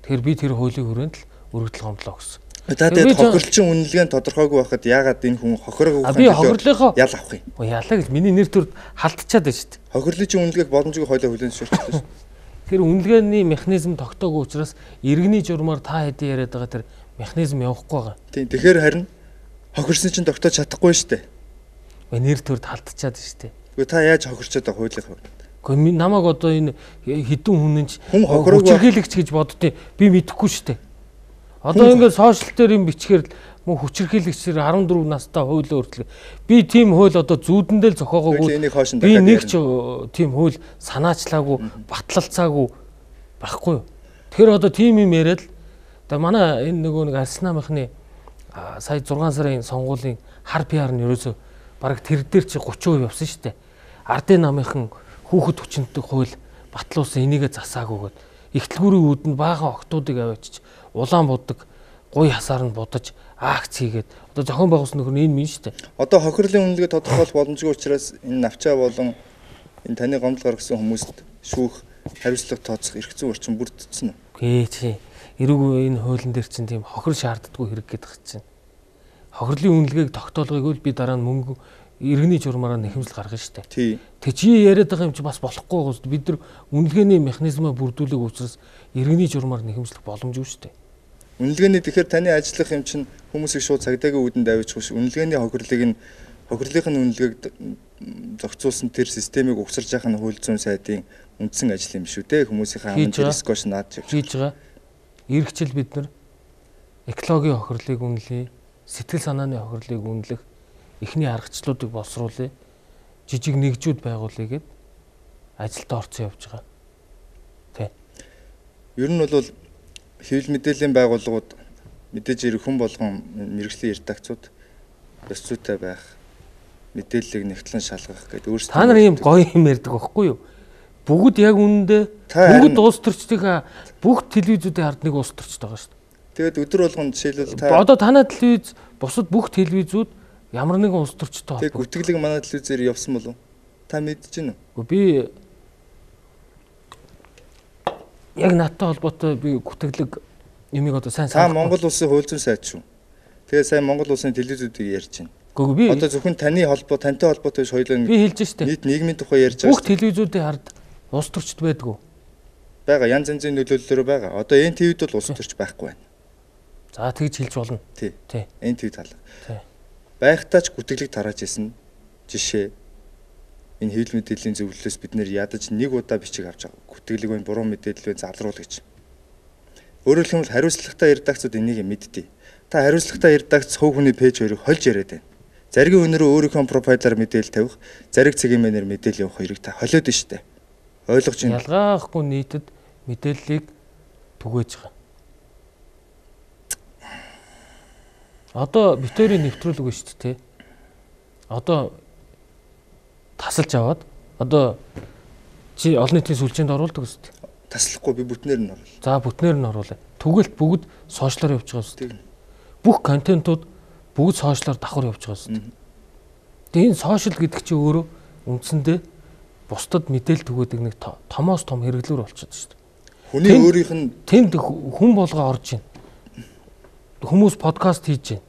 Тэгэхээр би тэр хуулийн хүрээнд л өргөдөл гомдлоо өгсөн. За тэгээд хохирлчин үнэлгээ нь тодорхойгүй байхад яагаад энэ хүн хохирог өгөх би хохирлынхоо ял авах юм? Яалаа гэж миний нэр төр халдчихад байна шүү дээ. Хохирлын үнэлгээг боломжгүй хойлоо хүлээн зөвшөөрчихлээ шүү. Тэр үнэлгээний механизм тогтоогүй учраас иргэний журмаар та хэдийн яриад байгаа тэр механизм явахгүй байгаа. Тийм. Тэгэхээр харин хохирсон чинь тогтоож чадахгүй шүү дээ. Нэр төрд халдчихад шүү дээ. Гэхдээ та яаж хохирчод байгаа хуулийнхаа хүрээнд? Гэхдээ намайг одоо энэ хідэн хүнэн ч хүн хохирог хүчирхийлэгч гэж боддیں۔ Би мэдэхгүй шүү дээ. Одоо ингээд сошиал дээр юм бичгээр мөн хүчирхийлэгчээр арван дөрөв настай хуулиа өөрчлөг. Би тийм хууль одоо зүүдэндээ л зохиогоогүй. Би нэг ч тийм хууль санаачлаагүй, батлалцаагүй байхгүй юу. Тэгэхээр одоо тийм юм яриад л одоо манай энэ нөгөө нэг Арсенамынхны сая зургаан сарын сонгуулийн хар пиар нь ерөөсө бараг тэр дээр чи гурван хувь явсан шүү дээ. Ардын намынхан хүүхэд хүчнэдэг хууль батлуулсан энийгээ засаагүйгээд ихтлгүүрийн үүдэнд баахан октоодыг аваачиж улаан будаг гуй хасаар нь будаж акц хийгээд одоо зохион байгуулсан нөхөр нь энэ минь шүү дээ. Одоо хохирлын үнэлгээ тодорхойлох боломжгүй учраас энэ навчаа болон энэ таны гомдол гаргасан хүмүүст шүүх хариуцлага тооцох эрх зүйн орчин бүрдсэн үү? Гээ чи эрүүг энэ хуулийн дээр чинь тийм хохир шаарддаггүй хэрэг гэдэг чинь. Хохирлын үнэлгээг тогтоолгоог л би дараа нь мөнгө иргэний журмаараа нэхэмжил гаргана шүү дээ. Тий. Тэг чи яриад байгаа юм чи бас болохгүй гоос бид нар үнэлгээний механизмаа бүрдүүлэх учраас иргэний журмаар нэхэмжлэх боломжгүй шүү дээ. Үнэлгээний тэгэхээр таны ажиллах юм чинь хүмүүсийг шууд цагдаагийн үүдэнд авчих биш. Үнэлгээний хохирлыг нь хохирлынхын үнэлгээг зохицуулсан тэр системийг угсарж яхах нь хууль зүйн сайдын үндсэн ажил юм шүү дээ. Хүмүүсийн хамт дискош наад хийж байгаа. Иргэчл бид нар экологийн хохирлыг үнэлье, сэтгэл санааны хохирлыг үнэлэх эхний аргачлалуудыг боловсруулъя. Жижиг нэгжүүд байгуулъя гэд ажилдаа орцсон явж байгаа. Тэ. Ер нь бол хэвлэл мэдээллийн байгууллагууд мэдээж ирэх хүн болгон мэрэгжлийн редакцууд ёс зүйтэй байх, мэдээллийг нэгтлэн шалгах гэдэг өөрсдөө та нар ийм гоё юм ярьдаг байхгүй юу? Бүгд яг үнэндээ бүгд улс төрчдийнхаа бүх телевизүүдийн ард нэг улс төрчд байгаа шүү дээ. Тэгээд өдөр болгон жишээлбэл та одоо танай телевиз бусад бүх телевизүүд ямар нэгэн улс төрчтэй холбоотой. Тэгээд гүтгэлэг манай телевизээр явсан болов? Та мэдэж байна уу? Би яг надтай холбоотой би гүтгэлэг юмыг одоо сайн сайн. Та Монгол улсын хууль зүйн сайд шүү. Тэгээд сайн Монгол улсын телевизүүдийг ярьж байна. Гэхдээ би одоо зөвхөн таны холбоо тантай холбоотой биш хоёулаа би хэлж штэ. Нийт нийгмийн тухай ярьж байгаа. Бүх телевизүүдийн ард улс төрчд байдгүй. Бага янз янзын нөлөөллөөр байгаа. Одоо эн ти ви-д бол улс төрч байхгүй байна. За тэгж хэлж болно. Тий. Тий. эн ти ви талаа. Тий. Байхтаач гүтгэлэг тарааж исэн жишээ. Энэ хэвлэл мэдээллийн зөвлөлөөс бид нэр ядаж нэг удаа бичиг авч байгаа. Гүтгэлэг байна, буруу мэдээлэл байна, залруулах гэж. Өөрөөр хэлбэл хариуцлагатай редакцууд энийг мэддэг. Та хариуцлагатай редакц хувь хүний пэйж хоёрыг хольж яриад байна. Заргийн өнөрөө өөрийнхөө профайлаар мэдээлэл тавих, зариг цагийн мэнээр мэдээлэл явах хоёрыг та холиод нь штэ. Ойлгож байна. Ялгаахгүй нийтэд мэдээллийг түгээж байгаа. Одоо битүүрийн нэвтрүүлэг байна шүү дээ. Одоо тасалж аваад одоо чи олон нийтийн сүлжээнд оруулдаг шүү дээ. Таслахгүй би бүтнээр нь оруулаа. За бүтнээр нь оруулаа. Түгэлт бүгд сошиалаар явж байгаа шүү дээ. Бүх контентууд бүгд сошиалаар давхар явж байгаа шүү дээ. Тэгээ энэ сошиал гэдэг чинь өөрөө үндсэндээ бусдад мэдээлэл түгээдэг нэг томоос том хэрэглүүр болчиход шүү дээ. Хүний өөрийнх нь тэнд хүн болгоо орж байна. Хүмүүс подкаст хийж байна.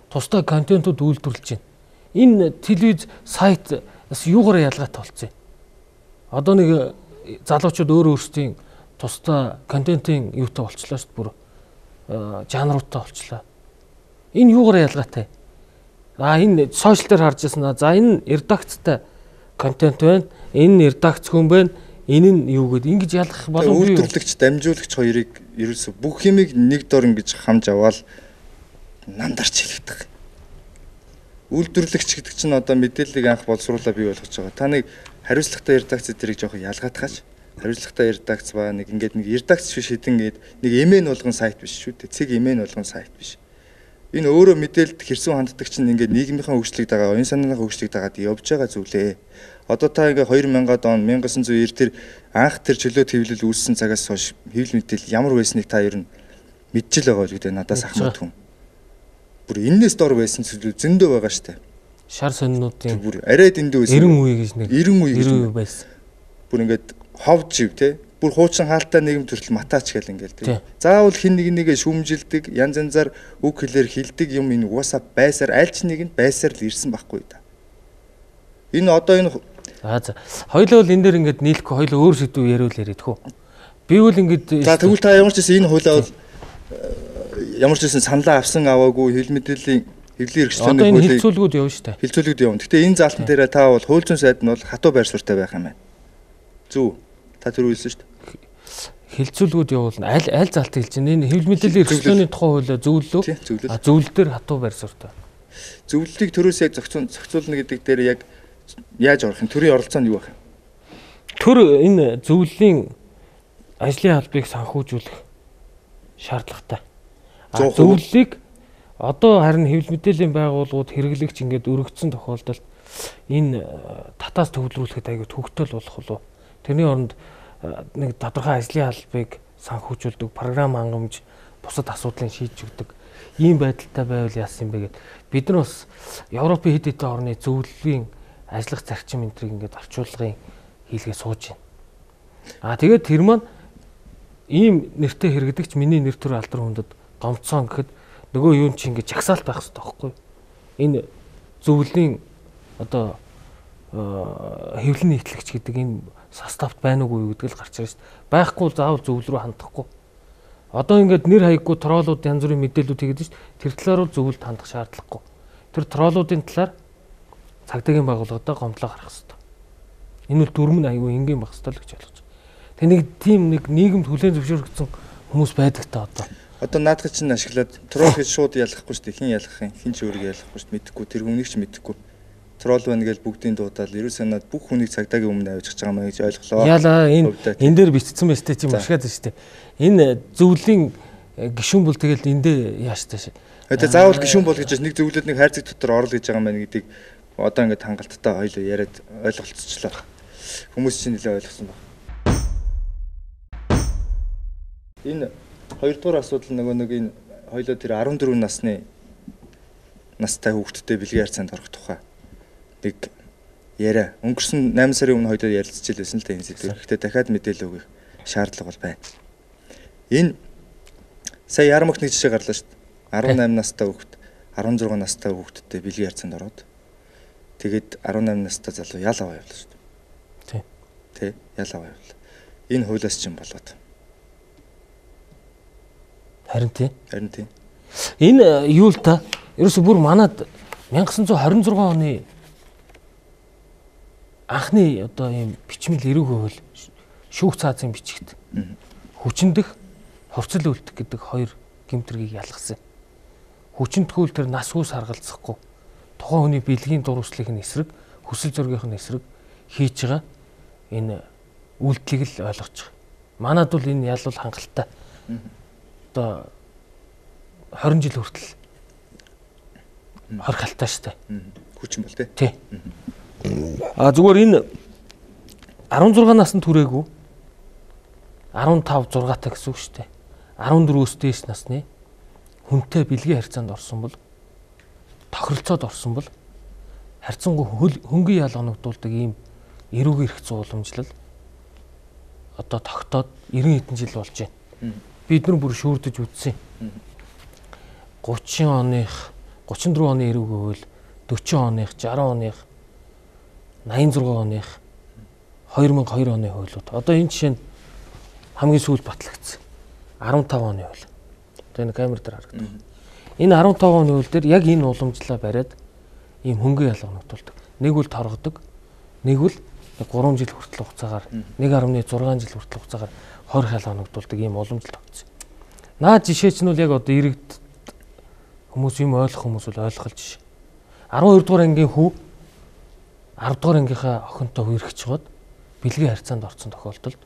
Тусдаа контентууд үйлдвэрлэж байна. Энэ телевиз сайт бас юугаар ялгаатай болцсон юм. Одоо нэг залуучууд өөр өөрсдийн тусдаа контентын юутай болчлаа шүү дээ бүр жанруудтай болчлаа. Энэ юугаар ялгаатай? А энэ сошиал дээр харж яснаа. За энэ редакцтай контент байна. Энэ редакц хүн байна. Энэ нь юу гэдэг ингэж ялгах боломжгүй. Үйлдвэрлэгч, дамжуулагч хоёрыг ерөөсө бүх юмыг нэг дор ингэж хамж аваад намдарч хэлэгдэх. Үйлдвэрлэгч гэдэг чинь одоо мэдээллийг анх боловсруулаад бий болгож байгаа. Та нэг хариуцлагатай редакц зэрэг жоохон ялгаатгаач. Хариуцлагатай редакц ба нэг ингээд нэг редакц биш хэдэн гээд нэг эмээн болгон сайт биш шүү дээ. Цэг эмээн болгон сайт биш. Энэ өөрөө мэдээлэлд хэрсүү ханддаг чинь ингээд нийгмийнхаа хөгжлийг дагаа, оюун санааныхаа хөгжлийг дагаад явж байгаа зүйлээ. Одоо та ингээ хоёр мянган он 천구900 эр тэр анх тэр чөлөө твлэл үүссэн цагаас хойш хэвлэл мэдээлэл ямар байсныг та ер нь мэдчихэл байгаа л үү надаас ахмад хүн. Бүр энэс дор байсан зүйл зөндөө байгаа штэ. Шар сонинуудын бүр арай дэндүү байсан. эрен үе гэж нэг эрен үе гэж байсан. Бүр ингээд ховж ив те. Бүр хуучин хаалттай нийгэм төрөл матаач гэл ингээл те. Заавал хин нэг нэгэ шүүмжилдэг, янз янзаар үг хэлээр хилдэг юм энэ угаасаа байсаар аль ч нэг нь байсаар л ирсэн байхгүй да. Энэ одоо энэ За за. Хоёлоо бол энэ дээр ингээд нийлэхгүй хоёлоо өөр сэдв яриул яриад хөө. Би бол ингээд за тэгвэл та ямар ч гэсэн энэ хуулиа бол ямар ч гэсэн саналаа авсан аваагүй хил мэдээллийн хэвлэлийн хэрэгцээний хуулийг одоо энэ хилцүүлгүүд явна шүү дээ. Хилцүүлгүүд явна. Гэтэ энэ заалтан дээр та бол хууль зүйн сайд нь бол хатуу байр суурьтай байх юм байна. Зөв. Та тэр үйлсэн шүү дээ. Хилцүүлгүүд явуулна. Аль аль заалтыг хэлж байна. Энэ хэвлэл мэдээллийн хэрэгцээний тухай хуулиа зөвлөлөө. А зөвлөл дээр хатуу байр суурьтай. Зөвлөлийг төрөөс яг зохицуулна гэдэг дээр яг яаж орох юм? Төрийн оролцоо нь юу байх юм? Төр энэ зөвлөлийн ажлын албыг санхүүжүүлэх шаардлагатай. Зөвлөлийг одоо харин хэвлэл мэдээллийн байгууллагууд хэрэглэгч ингээд өргөцсөн тохиолдолд энэ татаас төвлөрүүлэхэд аягүй төгтөл болох болов. Тэрний оронд нэг тодорхой ажлын албыг санхүүжүүлдэг, програм хангамж, бусад асуудлыг шийдэж өгдөг ийм байдалтай байвал яасан юм бэ гэд бид нар бас Европын хэд хэдэн орны зөвлөлийн ажиллах зарчим энтрийг ингээд орчуулгын хийлгээ сууж байна. Аа тэгээд тэр маань ийм нэртэй хэрэгдэгч миний нэр төр алдар хүндэд гомцсон гэхэд нөгөө юу чи ингээд жагсаалт байх хэрэгтэй байхгүй. Энэ зөвлөлийн одоо хэвлэл нийтлэгч гэдэг энэ состав байна уугүй гэдэг л гарч ирж байна. Байхгүй заавал зөвлөл рүү хандахгүй. Одоо ингээд нэр хаяггүй троллууд янз бүрийн мэдээлүүд хийгээд шүү дээ. Тэр талаар бол зөвлөлд хандах шаардлагагүй. Тэр троллуудын талаар цагдаагийн байгууллагуудаа гомдлоо гаргах хэрэгтэй. Энэ бол дүрм нь аюу энгийн байх хэрэгтэй л гэж ойлгож байна. Тэг нэг тийм нэг нийгэмд хүлээн зөвшөөрөгдсөн хүмүүс байдаг та одоо. Одоо наадах чинь ашиглаад тролл гэж шууд ялахгүй шүү дээ. Хин ялах юм? Хин ч өөрийгөө ялахгүй шүү дээ. Мэдхгүй тэр хүнийг ч мэдхгүй. Тролл байна гэж бүгдийн дуудаал ерөөс санаад бүх хүнийг цагдаагийн өмнө авчихж байгаа маа гэж ойлголоо. Яалаа энэ энэ дээр бичсэн байж тээ чи машгаад шүү дээ. Энэ зөвлөлийн гишүүн бол тэгэл эндээ яаш тааш. Тэгээ заавал гишүүн бол гэж нэг зөвлөд нэг хайрцаг дотор орол гэж байгаа юм байна гэдгийг одоо ингээд хангалттай хоёул яриад ойлголцчихлоо. Хүмүүс чинь нэлээ ойлгосон байна. Энэ хоёрдугаар асуудал нөгөө нэг энэ хоёулаа тэр арван дөрвөн насны настай хүүхдтэй бэлгийн харьцаанд орох тухай нэг яриа. Өнгөрсөн найман сарын өмнө хоёулаа ярилцж илсэн л дээ энэ зүйл. Гэхдээ дахиад мэдээлэл өгөх шаардлага бол байна. Энэ сая Ярамагт нэг жишээ гарлаа шүү дээ. арван найман настай хүүхэд арван зургаан настай хүүхэдтэй бэлгийн харьцаанд ороод тэгээд арван найман настай залуу ял аваа явуулсан шүү дээ. Тий. Тий, ял аваа явуул. Энэ хуулиас ч юм болоод. Харин тий. Харин тий. Энэ юу л та ерөөсө бүр манад 천구 хоёр зургаан оны анхны одоо ийм бичмэл эрүүг хууль шүүх цаазын бичигт хүчиндэх хувцал үлдэх гэдэг хоёр гэмтрийг ялгасан. Хүчинтгүүл тэр нас үс харгалзахгүй тухайн хүний бэлгийн дурлалын эсрэг хүсэл зоригын эсрэг хийж байгаа энэ үйлдэлийг л ойлгож байгаа. Манад бол энэ ял бол хангалттай. Одоо хорин жил хүртэл хорхалтай штэ. Хүчин бол тий. Тий. А зүгээр энэ арван зургаан наснд хүрээгүй арван тав зургаатай гэсэн үг штэ. арван дөрвөөс дээш насны хүнтэй бэлгийн харьцаанд орсон бол тохиролцоод орсон бол харьцангуй хөнгөн ял оногдуулдаг ийм эрүүг эрх зууламжлал одоо тогтоод эрен хэдэн жил болж байна. Бид нар бүр шүүрдэж үзсэн. гучин оных гучин дөрвөн оны эрүүг хууль, дөрвөн оных, жарган оных, найман зургаан оных, хоёр мянга хоёр оны хуулиуд. Одоо энэ жишээ нь хамгийн сүүлд батлагдсан. арван тав оны хууль. Одоо энэ камер дээр харагдав. Энэ арван тав оны хууль дээр яг энэ уламжлалаа бариад ийм хөнгөн ялгамжуулдаг. Нэг үл торгодог, нэг үл гурван жил хүртэл хугацаагаар нэг гаруй зургаан жил хүртэл хугацаагаар хорих ялгамжуулдаг ийм уламжлал тогтсон. Наад жишээ чинь бол яг одоо иргэд хүмүүс юм ойлгох хүмүүс бол ойлгох л жишээ. арван хоёр дугаар ангийн хүү арав дугаар ангийнхаа охинтой үерхэж чад бэлгийн харьцаанд орсон тохиолдолд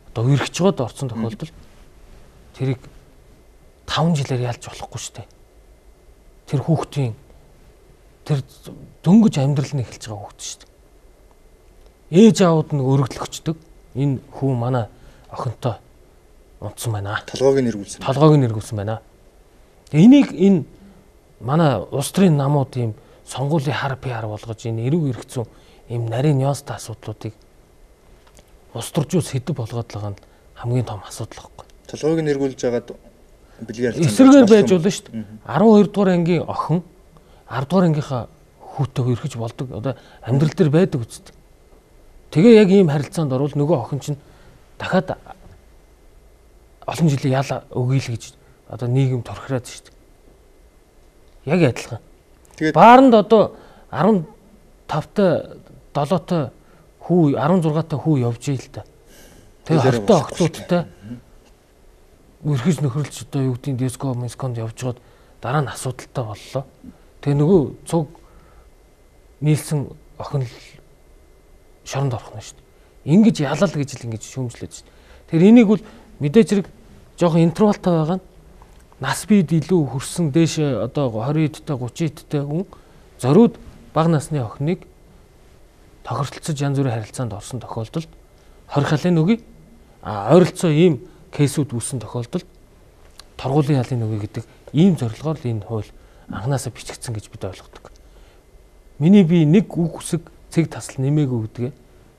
одоо үерхэж чад орсон тохиолдолд тэрийг таван жилээр ялж болохгүй шүү дээ. Тэр хүүхдийн тэр дөнгөж амьдрал нь эхэлж байгаа хүүхд шүү дээ. Ээж аауд нь өргөдлөгчдөг. Энэ хүү манай охинтой унтсан байна. Толгойг нь эргүүлсэн. Толгойг нь эргүүлсэн байна. Энийг энэ манай улс төрийн намууд ийм сонгуулийн хар пиар болгож энэ эрүүг эрх зүйн ийм нарийн нюанстай асуудлуудыг улс төржүүл сэдв болгоод байгаа нь хамгийн том асуудал байхгүй. Толгойг нь эргүүлж байгаад бэлгээр эсрэгээр байж болно шүү дээ. арван хоёр дугаар ангийн охин арав дугаар ангийнхаа хүүтэй үерхэж болдог. Одоо амьдрал дээр байдаг үсттэй. Тэгээ яг ийм харилцаанд орвол нөгөө охин чинь дахиад олон жилийн ял өгөөл гэж одоо нийгэм торхираад шүү дээ. Яг адилхан. Тэгээд бааранд одоо арван тавтай долоотой хүү арван зургаатай хүү явж ийл та. Тэгээ хортой охтуудтай үрхэж нөхөрлж одоо юу гэдгийг диско мисконд явж гоод дараа нь асуудалтай боллоо. Тэгээ нөгөө цуг нийлсэн охин л шоронд орох нь шүү дээ. Ингиж ялал гэж л ингэж шүүмжлээд шүү дээ. Тэгэхээр энийг бол мэдээж хэрэг жоохон интервалтай байгаа нь нас бид илүү хөрсөн дээш одоо двадцать эдтэй тридцать эдтэй хүн зориуд бага насны охиныг тохиролцож янз бүрийн харилцаанд орсон тохиолдолд хорихлын үгүй а ойролцоо ийм кейсүүд үүссэн тохиолдолд торгуулийн ялын үгүй гэдэг ийм зорилгоор л энэ хууль анханасаа бичигдсэн гэж бид ойлгодог. Миний би нэг үг үсэг цэг тасал нэмээгүй гэдгээ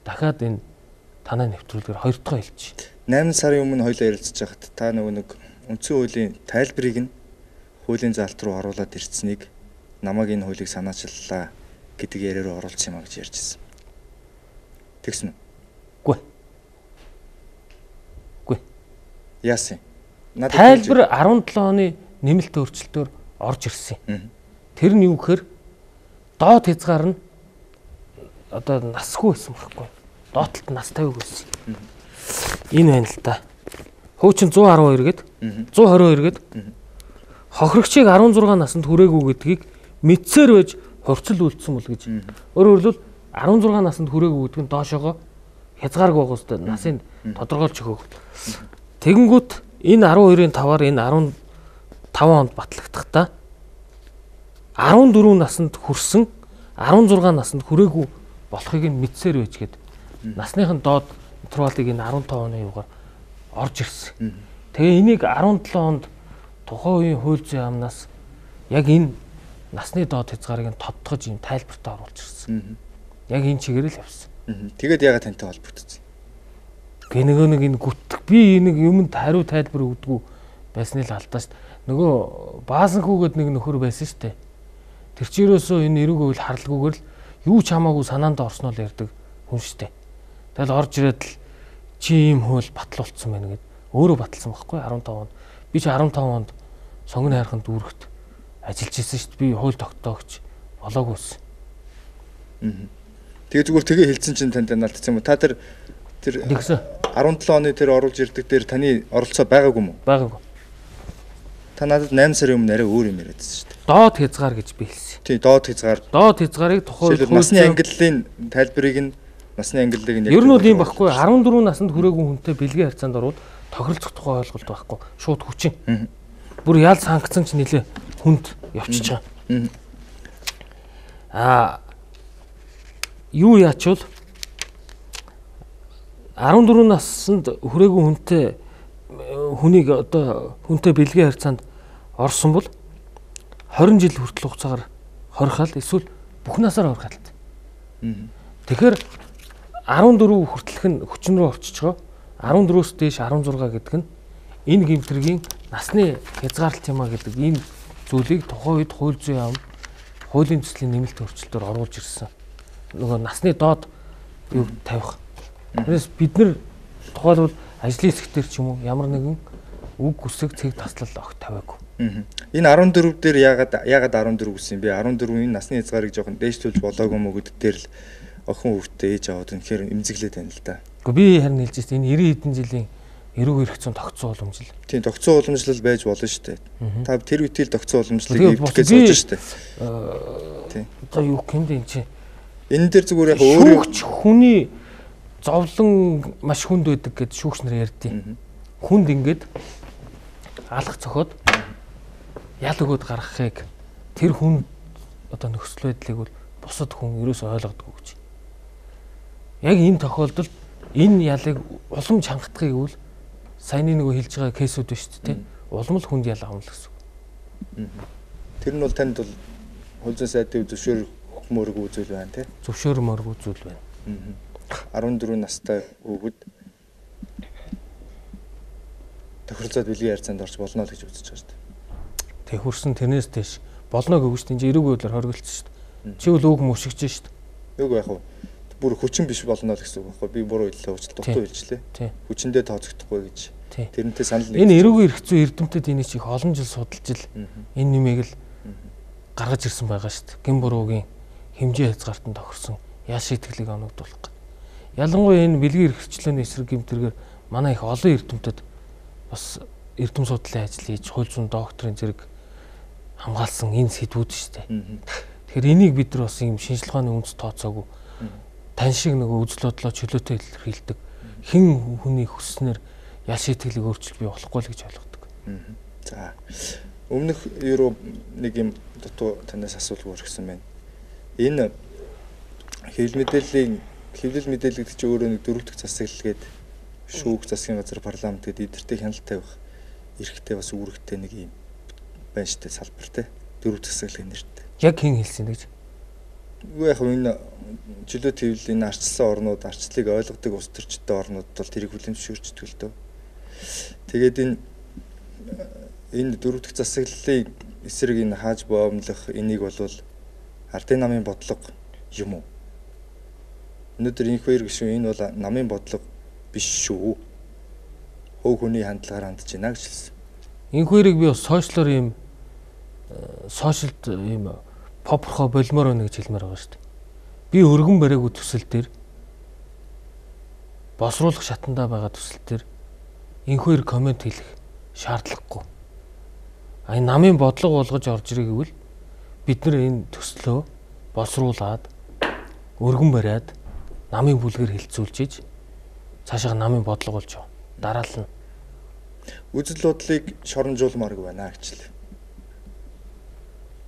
дахиад энэ танай нэвтрүүлгээр хоёр дахь хэлж. найман сарын өмнө хоёлаа ярилцж байхад та нөгөө нэг үндсэн хуулийн тайлбарыг нь хуулийн заалт руу оруулаад ирцнийг намайг энэ хуулийг санаачлалаа гэдэг яриараа оруулсан юм а гэж ярьж ирсэн. Тэгсэн үү? Үгүй. Үгүй. Яасан? Тайлбар арван долоо оны нэмэлт өөрчлөлтөөр орж ирсэн. Тэр нь юу гэхээр доод хязгаар нь одоо насгүй байсан байхгүй. Доотлолт настай юу гэсэн. Энэ байна л та. Хуучин one twelve гээд one twenty-two гээд хохирогчийг16 наснд хүрээгүй гэдгийг мэдсээр байж хувцал үлдсэн бол гэж. Өөрөөр хэлбэл16 наснд хүрээгүй гэдэг нь доошоогоо хязгааргүй байгаа үстэй насыг тодорхойлж өгөх. Тэгэнгүүт энэ twelve-ийн five-аар энэ fifteen онд батлагдахдаа fourteen наснд хүрсэн sixteen наснд хүрээгүй болохыг нь мэдсээр байж гээд насныхын доод интервалыг энэ fifteen оны юугаар орж ирсэн. Тэгээ энийг seventeen онд тухайн үеийн хууль зүйн амнаас яг энэ насны доод хязгаарыг нь тодтогж юм тайлбартаа оруулж ирсэн. Яг энэ чигээр л явсан. Тэгээд ягаад тантай холбогдсон? Гэ нөгөө нэг энэ гүтг би нэг юмд хариу тайлбар өгдөггүй байсны л алдаа шүү дээ. Нөгөө баасан хүүгээд нэг нөхөр байсан шүү дээ. Тэр чи ерөөсөө энэ эрүүг үйл харлгүйгээр л юу ч хамаагүй санаанд орсноо л ярьдаг хүн шүү дээ. Тэгэл орж ирээд л чи ийм хууль батлуулсан байна гэд өөрөө баталсан байхгүй fifteen онд. Би чи fifteen онд сонгоны хайрханд дүүрэгт ажиллаж ирсэн шүү дээ. Би хууль тогтоогч болоогүйсэн. Тэгээ зүгээр тэгээ хэлсэн чинь танд наалтсан юм уу? Та тэр тэр арван долоо оны тэр оруулж ирдэг дээр таны оролцоо байгаагүй юм уу? Байгаагүй. Та надад найман сарын өмнө арай өөр юм яриадсан шүү дээ. Доод хязгаар гэж би хэлсэн. Тий, доод хязгаар. Доод хязгаарыг тухайн насны ангиллалын тайлбарыг нь насны ангиллалыг нь яг ер нь ийм багхгүй арван дөрвөн наснд хүрээгүй хүнтэй бэлгийн харьцаанд орвол тохиролцох тухай ойлголт байхгүй. Шууд хүчин. Бүр ял санкцсан ч нэлээ хүнд явчихж байгаа. Аа юу яачвал арван дөрвөн наснд хүрээгүй хүнтэй хүнийг одоо хүнтэй бэлгийн харьцаанд орсон бол хорин жил хүртэл хугацаагаар хорихал эсвэл бүх насаар хорих алт. Тэгэхээр арван дөрөв хүртэлх нь хүчин рүү орчиж байгаа. арван дөрвөөс дээш арван зураг гэдэг нь энэ гэмтрийн насны хязгаарлалт юм а гэдэг ийм зүйлийг тухайн үед хууль зүйн ам хуулийн төслийн нэмэлт өөрчлөлтөөр оруулж ирсэн. Нөгөө насны доод юу тавих. Тэрээс бид нар тухайлбал ажлын хэсгээр ч юм уу ямар нэгэн үг үсэг цэг таслал огт тавиагүй. Энэ арван дөрөв дээр яагаад яагаад арван дөрөв гэсэн юм бэ? арван дөрвийн насны хязгаарыг жоохон дээшлүүлж болоогүй мó гэдэг дээр л охин хүүхдээ ээж аваад үнэхээр эмзэглээд байна л да. Гэхдээ би харин хэлж байна. Энэ девяносто хэдэн жилийн эрүүг эрх зүйн тогтцоо уламжлал. Тийм, тогтцоо уламжлал байж болно шүү дээ. Та тэр үеийн тогтцоо уламжлалыг эвдэх гэж сууж шүү дээ. Тийм. Одоо юу гэмдэ энэ чинь. Энэ дээр зүгээр яг өөр шүүгч хүний зовлон маш хүнд байдаг гэж шүүгч нар ярьдیں۔ Хүнд ингээд алах цохоод ял өгөөд гаргахыг тэр хүн одоо нөхцөл байдлыг бол бусад хүн ерөөсөй ойлгодгүй гэж. Яг энэ тохиолдолд энэ ялыг улам чангатахыг үл саяны нөгөө хэлж байгаа кейсүүд байна шүү дээ. Улам л хүнд ял авна л гэсэн. Тэр нь бол танд бол хууль зүйн сайдын зөвшөөр мөрөг үзүүл байна тий. Зөвшөөр мөрөг үзүүл байна. арван дөрвөн настай хүүхэд тохиролцоод бэлгийн харьцаанд орж болно л гэж үзэж байгаа шүү дээ. Тэг хурсан тэрнээс дэш болно гэвч тийм эрүүг байдлаар хоригдсон шүү дээ. Чи бол үг мөшгөж шүү дээ. Үг яах вэ? Бүр хүчин биш болно л гэсэн үг байхгүй. Би буруу хэллээ, уучлалт дутуу хэлжлээ. Хүчиндээ тооцогдохгүй гэж. Тэрнтэй санал нэг. Энэ эрүүгийн эрх зүй эрдэмтэд энийг чих олон жил судалж ил энэ нэмийг л гаргаж ирсэн байгаа шүү дээ. Гин буруугийн хэмжээ хязгаартанд тохирсон яа шийтгэлийг оногдуулах. Ялангуяа энэ бэлгийн эрхчлөөний эсрэг гэмтэргээр манай их олон эрдэмтэд бас эрдэм судлалын ажил хийж хууль зүйн докторийн зэрэг хамгаалсан энэ сэдвүүд шүү дээ. Тэгэхээр энийг бид нар бас юм шинжилгээ ухааны үндэс тооцоогүй тань шиг нөгөө үзэл бодлоо чөлөөтэй илэрхийлдэг хэн хүний хүснээр ял шийтгэлийг өөрчилж бий болохгүй л гэж ойлгодог. За өмнөх ерөө нэг юм дутуу танаас асуулт өргөсөн байна. Энэ хэвлэл мэдээллийн хэвлэл мэдээлэл гэдэг чинь өөрөө нэг дөрөв дэх засаглал гээд шүүх засгийн газар парламент гээд эдгэртэй хяналт тавих эрхтэй бас үүрэгтэй нэг юм байна штэ салбар те дөрөв засаглалын нэртэй. Яг хэн хэлсэн гэж? Үгүй яг энэ чөлөө твлийн арчилсан орнууд арчлыг ойлгодог улс төрчтэй орнууд бол тэрийг хүлээн зөвшөөрчдөг л дөө. Тэгээд энэ энэ дөрөв дэх засаглалын эсрэг энэ хааж боомлох энийг болвол ардын намын бодлого юм уу? Өнөөдөр инх хоёр гişүн энэ бол намын бодлого биш шүү. Хөв хүний хандлагаар хандж байна гэж хэлсэн. Инх хоёрыг би бас сошиалор юм сошиалд юм попрохо болмоор байна гэж хэлмээр байгаа шүү дээ. Би өргөн бариагүй төсөл дээр босруулах шатандаа байгаа төсөл дээр инх хоёр комент хэлэх шаардлагагүй. А энэ намын бодлого болгож орж ирэх гэвэл бид нар энэ төслөө босруулад өргөн бариад намын бүлгээр хилцүүлж иж цаашаа намын бодлого болж байгаа. Дараална. Үзэл бодлыг шоромжуулмааргүй байна гэж л.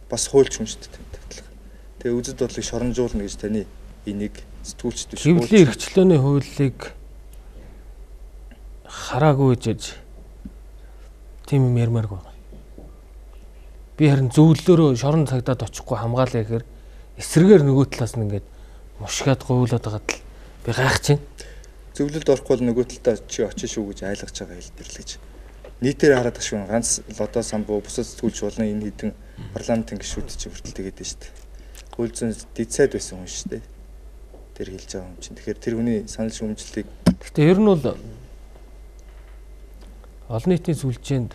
Бас хуульч хүн шүү дээ. Тэгээ үзэл бодлыг шоромжуулна гэж таны энийг сэтгүүлчд биш. Хэвлэлийн эрхчлөөний хуулийг хараагүй гэж тийм юм ярмаарг байна. Би харин зөвлөлөөрөө шорон цагдаад очихгүй хамгаалаа гэхээр эсрэгээр нөгөө талаас нь ингээд мушгаад говьлоод байгаад л би гайхаж байна. Зөвлөлд орохгүй бол нөгөө талдаа чи очиж шүү гэж айлгаж байгаа хэлбэр л гэж. Нийтээр хараад гашгүй ганц лодо самбуу бусад сэтгүүлч болно энэ хэдэн парламентын гишүүд чи хүртэл тэгээд байна шүү дээ. Хууль зүйн дэд сайд байсан хүн шүү дээ. Тэр хэлж байгаа юм чинь. Тэгэхээр тэр хүний санал шүүмжлэлийг гэхдээ ер нь бол олон нийтийн сүлжээнд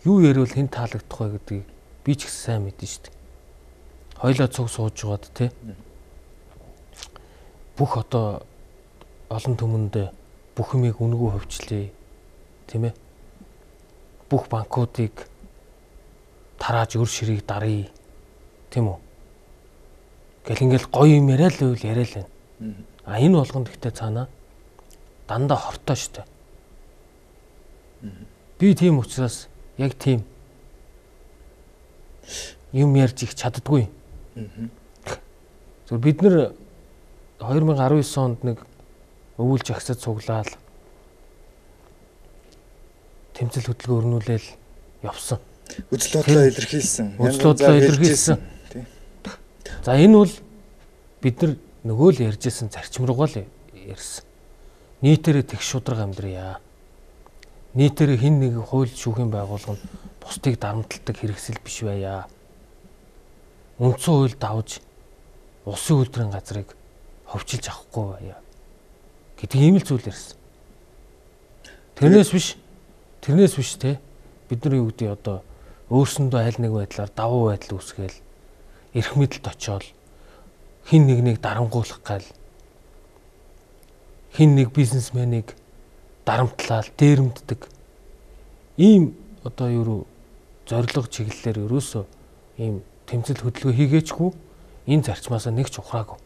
юу ярил хэн таалагдах вэ гэдгийг би ч их сайн мэднэ шүү дээ. Хойлоо цуг сууж байгаад тий. бүх одоо олон түмэнд бүх юмыг үнэгүй хөвчлээ. Тийм ээ. Бүх банкуудыг тарааж өр ширийг даръя. Тийм үү? Гэл ингээл гоё юм яриа л үйл яриа л байна. А энэ болгонд ихтэй цаана дандаа хортой штэ. Би тийм учраас яг тийм юм ярьж их чаддгүй. Зөв бид нэр two thousand nineteen онд нэг өвүүлж агсад цуглаал тэмцэл хөдөлгөөн өрнүүлээл явсан. Үзэл бодлоо илэрхийлсэн. Үзэл бодлоо илэрхийлсэн. За энэ бол бид нар нөгөө л ярьжсэн зарчим руугаа л ярьсан. Нийтээрээ тэг шудраг амьдрья. Нийтээрээ хин нэг хууль шүүхийн байгууллага нь бусдыг дарамталдаг хэрэгсэл биш байя. Үндсэн хууль давж улсын үйлдвэрийн газрыг ховчилж авахгүй байя гэдэг ийм л зүйл ярьсан. Тэрнээс биш тэрнээс биш те бид нар юу гэдэг одоо өөрсөндөө аль нэг байдлаар давуу байдал үүсгээл эрх мэдэлд очиод хин нэгнийг дарамгуулах гал хин нэг бизнесменийг дарамтлал дээрэмддэг ийм одоо юу зориг чиглэлээр ерөөсөө ийм тэмцэл хөдөлгөөн хийгээчгүй энэ зарчмаасаа нэг ч ухраагүй.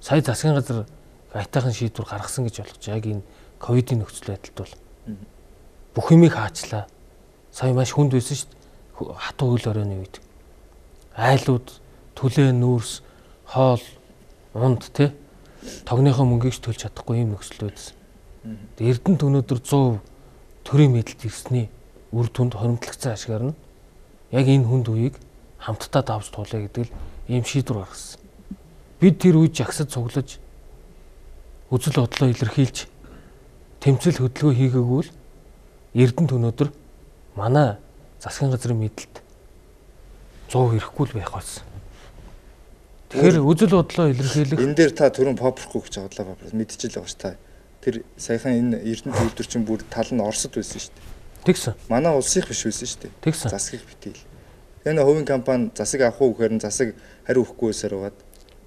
Сая засгийн газар айтайхан шийдвэр гаргасан гэж болгож яг энэ ковидын нөхцөл байдалд бол бүх юмыг хаачлаа. Сая маш хүнд байсан шүү дээ. Хатуу үйл оройны үед. Айлууд түлээ нүүрс хоол унд те тогныхоо мөнгийг ч төлж чадахгүй юм нөхцөл байдсан. Эрдэнэт өнөөдөр one hundred төрийн мэдэлд ирсний үр дүнд хоримтлагцсан ашгаар нь яг энэ хүнд үеийг хамтдаа давж туулъя гэдэг л ийм шийдвэр гаргасан. Бид тэр үед жагсад цуглаж үзэл бодлоо илэрхийлж тэмцэл хөдөлгөөн хийгээгүй л Эрдэнэт өнөөдөр манай засгийн газрын мэдэлд one hundred ирэхгүй л байх болсон. Тэгэхээр үзэл бодлоо илэрхийлэх энэ дээр та түрүүн попрохгүй гэж бодлоо папр мэдчихэл байгаа ш та. Тэр саяхан энэ Эрдэнэт үйлдвэр чинь бүр тал нь Оросд байсан шүү дээ. Тэгсэн. Манай улсынх биш байсан шүү дээ. Тэгсэн. Засгийг битэл. Энэ хувийн компани засаг авах уу гэхээр нь засаг хариу өгөхгүй байсаар байгаад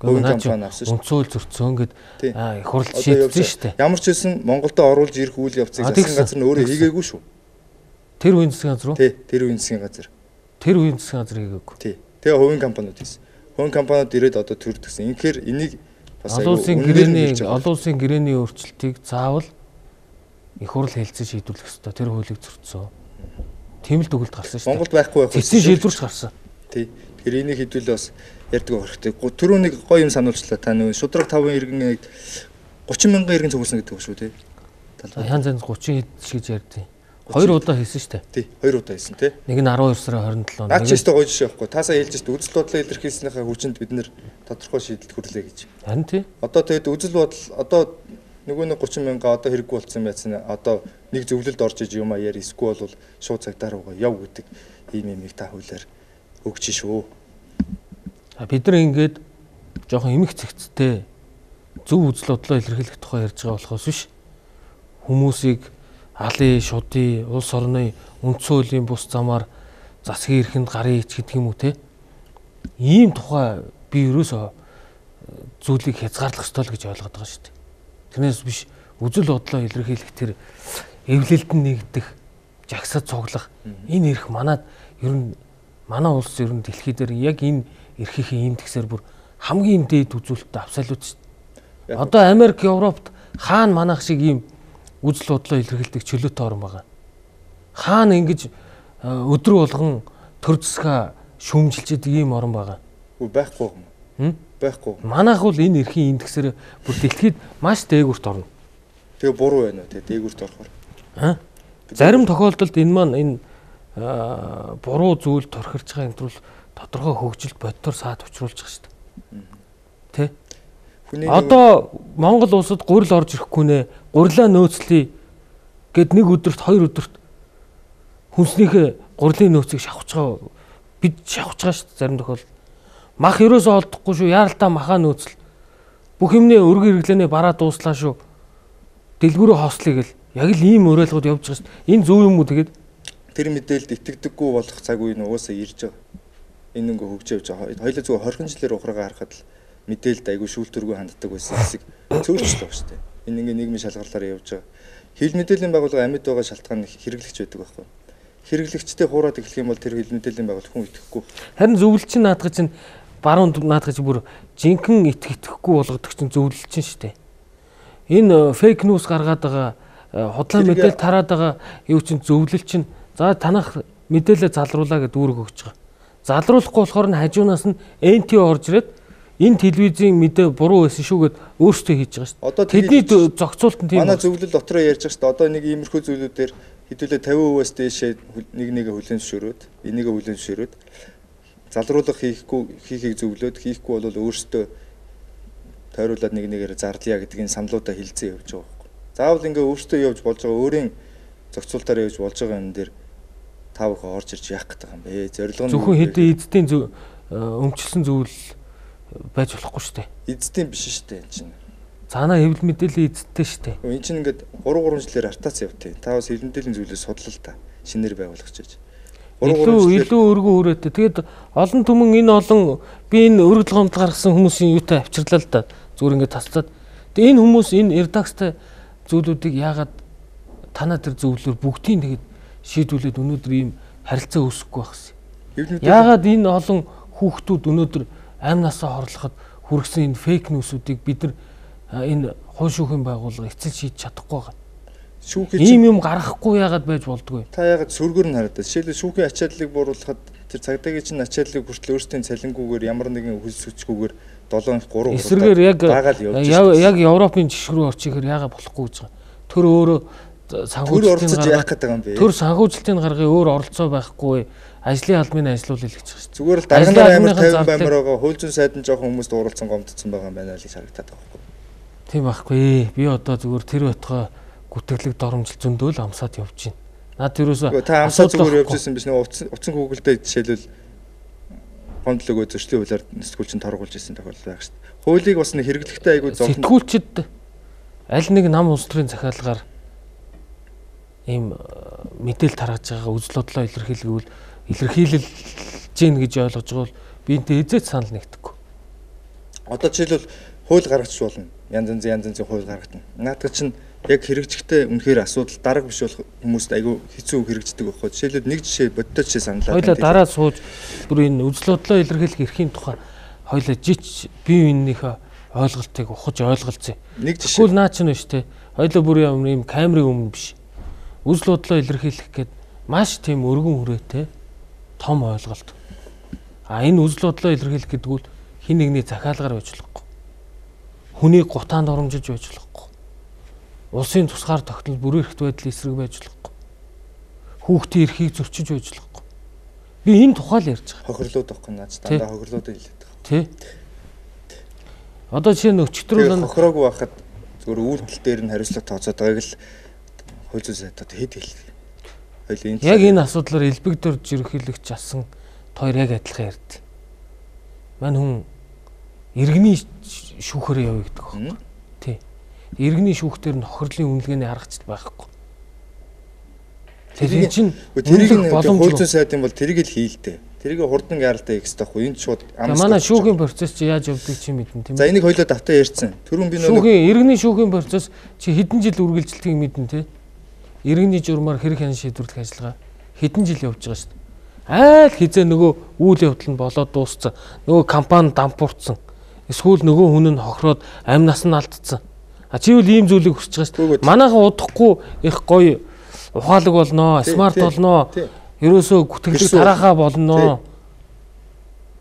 хувийн компани авсан шүү. Үнцөөл зөрчсөн гэд их хурл шийдсэн шүү дээ. Ямар ч байсан Монголд оруулж ирэх үйл явцыг засгийн газар нь өөрөө хийгээгүй шүү. Тэр үеийн засгийн газар уу? Тий, тэр үеийн засгийн газар. Тэр үеийн засгийн газар хийгээгүй. Тий. Тэгээ хувийн компаниуд хийсэн. Хувийн компаниуд ирээд одоо төрдөгсөн. Инхээр энийг бас олон улсын гэрээний олон улсын гэрээний өөрчлөлтийг заавал их хурл хэлцэн шийдвэрлэх ёстой. Тэр хуулийг зөрчсөн. Тийм л дүгэлд гарсан шүү дээ. Монголд байхгүй байх. Эцсийн шийдвэрч гарсан. Тий. Тэгэхээр энийг хэдүүлээ бас ярьдаг хэрэгтэй. Түрүү нэг гоё юм сануулчлаа та нөө шудраг таван иргэн thirty мянган иргэн цугласан гэдэг ба шүү тий. Янз янз thirty хэд гэж ярьдیں۔ Хоёр удаа хийсэн шүү дээ. Тий, хоёр удаа хийсэн тий. Нэг нь twelve сарын twenty-seven. Наач ч өстой гоё жишээ байхгүй. Таасаа хэлж шүү дээ. Үзэл бодлоо илэрхийлснийхаа хүчинд бид нэр тодорхой шийдэлд хүрлээ гэж. Харин тий. Одоо тэгээд үзэл бодол одоо нөгөө нэг thirty мянга одоо хэрэггүй болсон байсан. Одоо нэг зөвлөлд орж иж юм а яар эсвэл бол шууд цагтаар угаа яв гэдэг ийм юмыг та хуулиар өгч шүү. Бид нар ингээд жоохон эмх цэгцтэй зөв үзэл бодлоо илэрхийлэх тухай ярьж байгаа болохоос биш. Хүмүүсийг алын, шудын, улс орны үндсэн хуулийн бус замаар засгийн эрхэнд гарын ич гэдэг юм уу те. Ийм тухай би ерөөсөө зүйлийг хязгаарлах ёстой л гэж ойлгоод байгаа шүү дээ. Тэрнээс биш үзэл бодлоо илэрхийлэх тэр эвлэлдэн нэгдэх, жагсаад цуглах энэ эрх манад ер нь манай улс ер нь дэлхий дээр яг энэ эрхийн индексээр бүр хамгийн дээд үзүүлэлттэй абсолют шүү дээ. Одоо Америк, Европт хаана манайх шиг ийм үзэл бодлоо илэрхийлдэг чөлөөтэй орн байгаа. Хаана ингэж өдрө болгон төр засгаа шүүмжилчихэд ийм орн байгаа. Үгүй байхгүй юм. Байхгүй. Манайх бол энэ эрхийн индексээр бүр дэлхийд маш дээгүүрт орно. Тэгээ буруу байна уу те дээгүүрт орохоор. Аа. Зарим тохиолдолд энэ маань энэ буруу зүйл торхирч байгаа энэ тул тодорхой хөгжилд бодтоор саад учруулж байгаа шүү дээ. Тэ? Одоо Монгол улсад гурил орж ирэхгүй нэ, гурилаа нөөцлөе гэд нэг өдөрт хоёр өдөрт хүнснийхээ гурилын нөөцийг шавхаж байгаа бид шавхаж байгаа шүү дээ зарим тохиолдолд. Мах ерөөсөө олдохгүй шүү, яаралтай махаа нөөцл. Бүх юмний өргөн хэрэглэнээ бараа дууслаа шүү. Дэлгүүрөө хослоё гэл яг л ийм уриалгууд явж байгаа шүү дээ. Энэ зөв юм уу тэгээд тэр мэдээлэлд итгэдэггүй болох цаг үе нь угаасаа ирж байгаа. Энэ ингээ хөгж явж байгаа. Хоёул зүгээр twenty жилээр ухраагаа харахад л мэдээлэлд айгүй шүүлтүргүй ханддаг байсан хэсэг цөөрчлөө шүү дээ. Энэ ингээ нийгмийн шалгарлаараа явж байгаа. Хил мэдээллийн байгууллага амьд байгаа шалтгаан хэрэглэгч байдаг байхгүй. Хэрэглэгчтэй хуураад эхлэх юм бол тэр хил мэдээллийн байгууллага хүн итгэхгүй. Харин зөвлөлт чинь наадах чинь баруун наадах чинь бүр жинхэнэ итгэх итгэхгүй болгодог чинь зөвлөлт чинь шүү дээ. Энэ фейк ньюс гаргаад байгаа худлаа мэдээлэл тараад байгаа юу чинь зөвлөл чинь за танах мэдээлэл залруулаа гэдэг үүрэг өгч байгаа. Залруулахгүй болохоор нь хажуунаас нь эн ти орж ирээд энэ телевизийн мэдээ буруу байсан шүү гэд өөрсдөө хийж байгаа шүү. Одоо тэдний зохицуулт нь тийм. Манай зөвлөл дотроо ярьж байгаа шүү. Одоо нэг иймэрхүү зүйлүүдээр хэдүүлээ тавин хувиас дээшээ нэг нэгэ хүлэн зөвшөөрөөд, энийгээ хүлэн зөвшөөрөөд залруулах хийхгүй хийхийг зөвлөөд хийхгүй бол өөрсдөө тойруулаад нэг нэгээр зарлая гэдгийг саналуудаа хэлцээ явж байгаа байхгүй. Заавал ингээ өөрсдөө явж болж байгаа өөрийн зохицуултаар явж болж байгаа юм дээр та бүхэн орж ирж яах гэдэг юм бэ? Зорилго нь зөвхөн хэдийн эзэдийн өмчлсөн зөвлөл байж болохгүй шүү дээ. Эзэдийн биш шүү дээ энэ чинь. Цаанаа хэвлэл мэдээллийн эзэдтэй шүү дээ. Энэ чинь ингээд гурван гурван жилээр артаац явтыг. Та бас хэвлэл мэдээллийн зүйлээ судлал та. Шинээр байгуулах гэж. Илүү илүү өргөн хүрээтэй. Тэгээд олон түмэн энэ олон би энэ өргөдөл гомдол гаргасан хүмүүсийн юутай авчирлаа л да. Зүгээр ингээд тасцаад. Тэгээд энэ хүмүүс энэ редакцтай зүйлүүдийг яагаад танаа тэр зөвлөлөөр бүгдийг тэгээд шийдвүүлээд өнөөдөр ийм харилцаа үүсэхгүй байхсан. Яагаад энэ олон хүүхдүүд өнөөдөр амнасаа хорлоход хүргэсэн энэ фейк ньюсүүдийг бид нар энэ хууль шүүхийн байгууллага эцэл шийдэж чадахгүй байгаа. Шүүхийн ийм юм гаргахгүй яагаад байж болдгоо. Та яагаад сүргээр нь хараад. Жишээлбэл шүүхийн ачааллыг бууруулахад тэр цагдаагийн чинь ачааллыг хүртэл өөрсдийн цалингүйгээр ямар нэгэн хөлс хүчгүйгээр долоон три эсрэгээр яг яг Европын жишг рүү орчихоор яагаад болохгүй гэж байгаа. Тэр өөрөө санхүүжилтийн яах гэдэг юм бэ? Тэр санхүүжилтийн гаргын өөр оролцоо байхгүй. Ажлын албаны ажиллуулал гэж байгаа шүү. Зүгээр л дарганы амар тавин баймар байгаа хууль зүйн сайдын жоохон хүмүүст уралцсан гомдсон байгаа юм байна л гэж харагдаад байгаа байхгүй. Тийм байхгүй. Би одоо зүгээр тэр байтугай гүтгэлэг доромжил зөндөөл амсаад явж байна. Наад тэрөөсөө та амсаад зүгээр явж ирсэн биш нэг утсан утсан хүүгэлдээ жишээлбэл гомдлог өө зөрчлийн хуулиар сэтгүүлчин торгуулж ирсэн тохиолдол байх шүү дээ. Хуулийг бас нэг хэрэглэхтэй айгүй зовлон. Сэтгүүлчид аль нэг нам улс төрийн захиалгаар ийм мэдээлэл таргаж байгаа үзэл бодлоо илэрхийлгүүл илэрхийлж гин гэж ойлгож байгаа бол би энтэй эзэт санал нэгдэхгүй. Одоо жишээлбэл хууль гаргачих болно. Янз янзын янз янзын хууль гаргатна. Наадах чинь яг хэрэгжихтэй үнэхээр асуудал дарга биш болох хүмүүст айгүй хэцүү хэрэгждэг байхгүй. Жишээлбэл нэг жишээ бодтой жишээ саналаа. Хоёлаа дараа сууж бүр энэ үзэл бодлоо илэрхийлэх эрхийн тухай хоёлаа жич бие биенийхээ ойлголтыг ухаж ойлголцъя. Нэг жишээ. Тэгвэл наа чинь биш те. Хоёлаа бүр юм камерын өмнө биш. Үзэл бодлоо илэрхийлэх гээд маш тийм өргөн хүрээтэй том ойлголт. А энэ үзэл бодлоо илэрхийлэх гэдэг нь хин нэгний захиалгаар байж болохгүй. Хүнийг гутаанд оромжилж байж болохгүй. Улсын тусгаар тогтнол бүрэн эрхт байдлын эсрэг байж болохгүй. Хүүхдийн эрхийг зөрчиж байж болохгүй. Би энэ тухай л ярьж байгаа. Хохирлууд байхгүй наач дандаа хохирлууд хэлээд байгаа. Тий. Одоо чинь өчтөрөл хохироогүй байхад зөвхөн үйлдэл дээр нь хариуцлага тооцоод байгааг л хууль зүйн сайдад хэд хэлдэг. Хоёул энэ яг энэ асуудлаар элбэгдэрж ерөнхийлөгч асан хоёр яг адилхан ярьд. Мань хүн иргэний шүүхээр явъя гэдэг байна. Тий. Иргэний шүүхтэр нь хохирлын үнэлгээний харгацд байхгүй. Тэр чинь тэрийг хууль зүйн сайдын бол тэрийг л хийлдэ. Тэрийг хурдан яаралтай хийх хэрэгтэй байхгүй. Энд шууд амсгал. Манай шүүхийн процесс чи яаж явдаг чи мэднэ тийм ээ. За энийг хоёлоо давтаа ярьсан. Түрүүн би нөгөө шүүхийн иргэний шүүхийн процесс чи хэдэн жил үргэлжилтгийг мэднэ тий. Иргэний журмаар хэрэг хян шийдвэрлэх ажиллагаа хэдэн жил явж байгаа шүү дээ. Айл хизээ нөгөө үйл явдал нь болоод дууссан. Нөгөө компани дампуурсан. Эсвэл нөгөө хүн нь хохироод амнаас нь алдсан. А чи үл ийм зүйлийг хүсэж байгаа шүү дээ. Манайхан удахгүй их гоё ухаалаг болноо, смарт болноо. Ерөөсөө гүтгэлэг тараахаа болноо.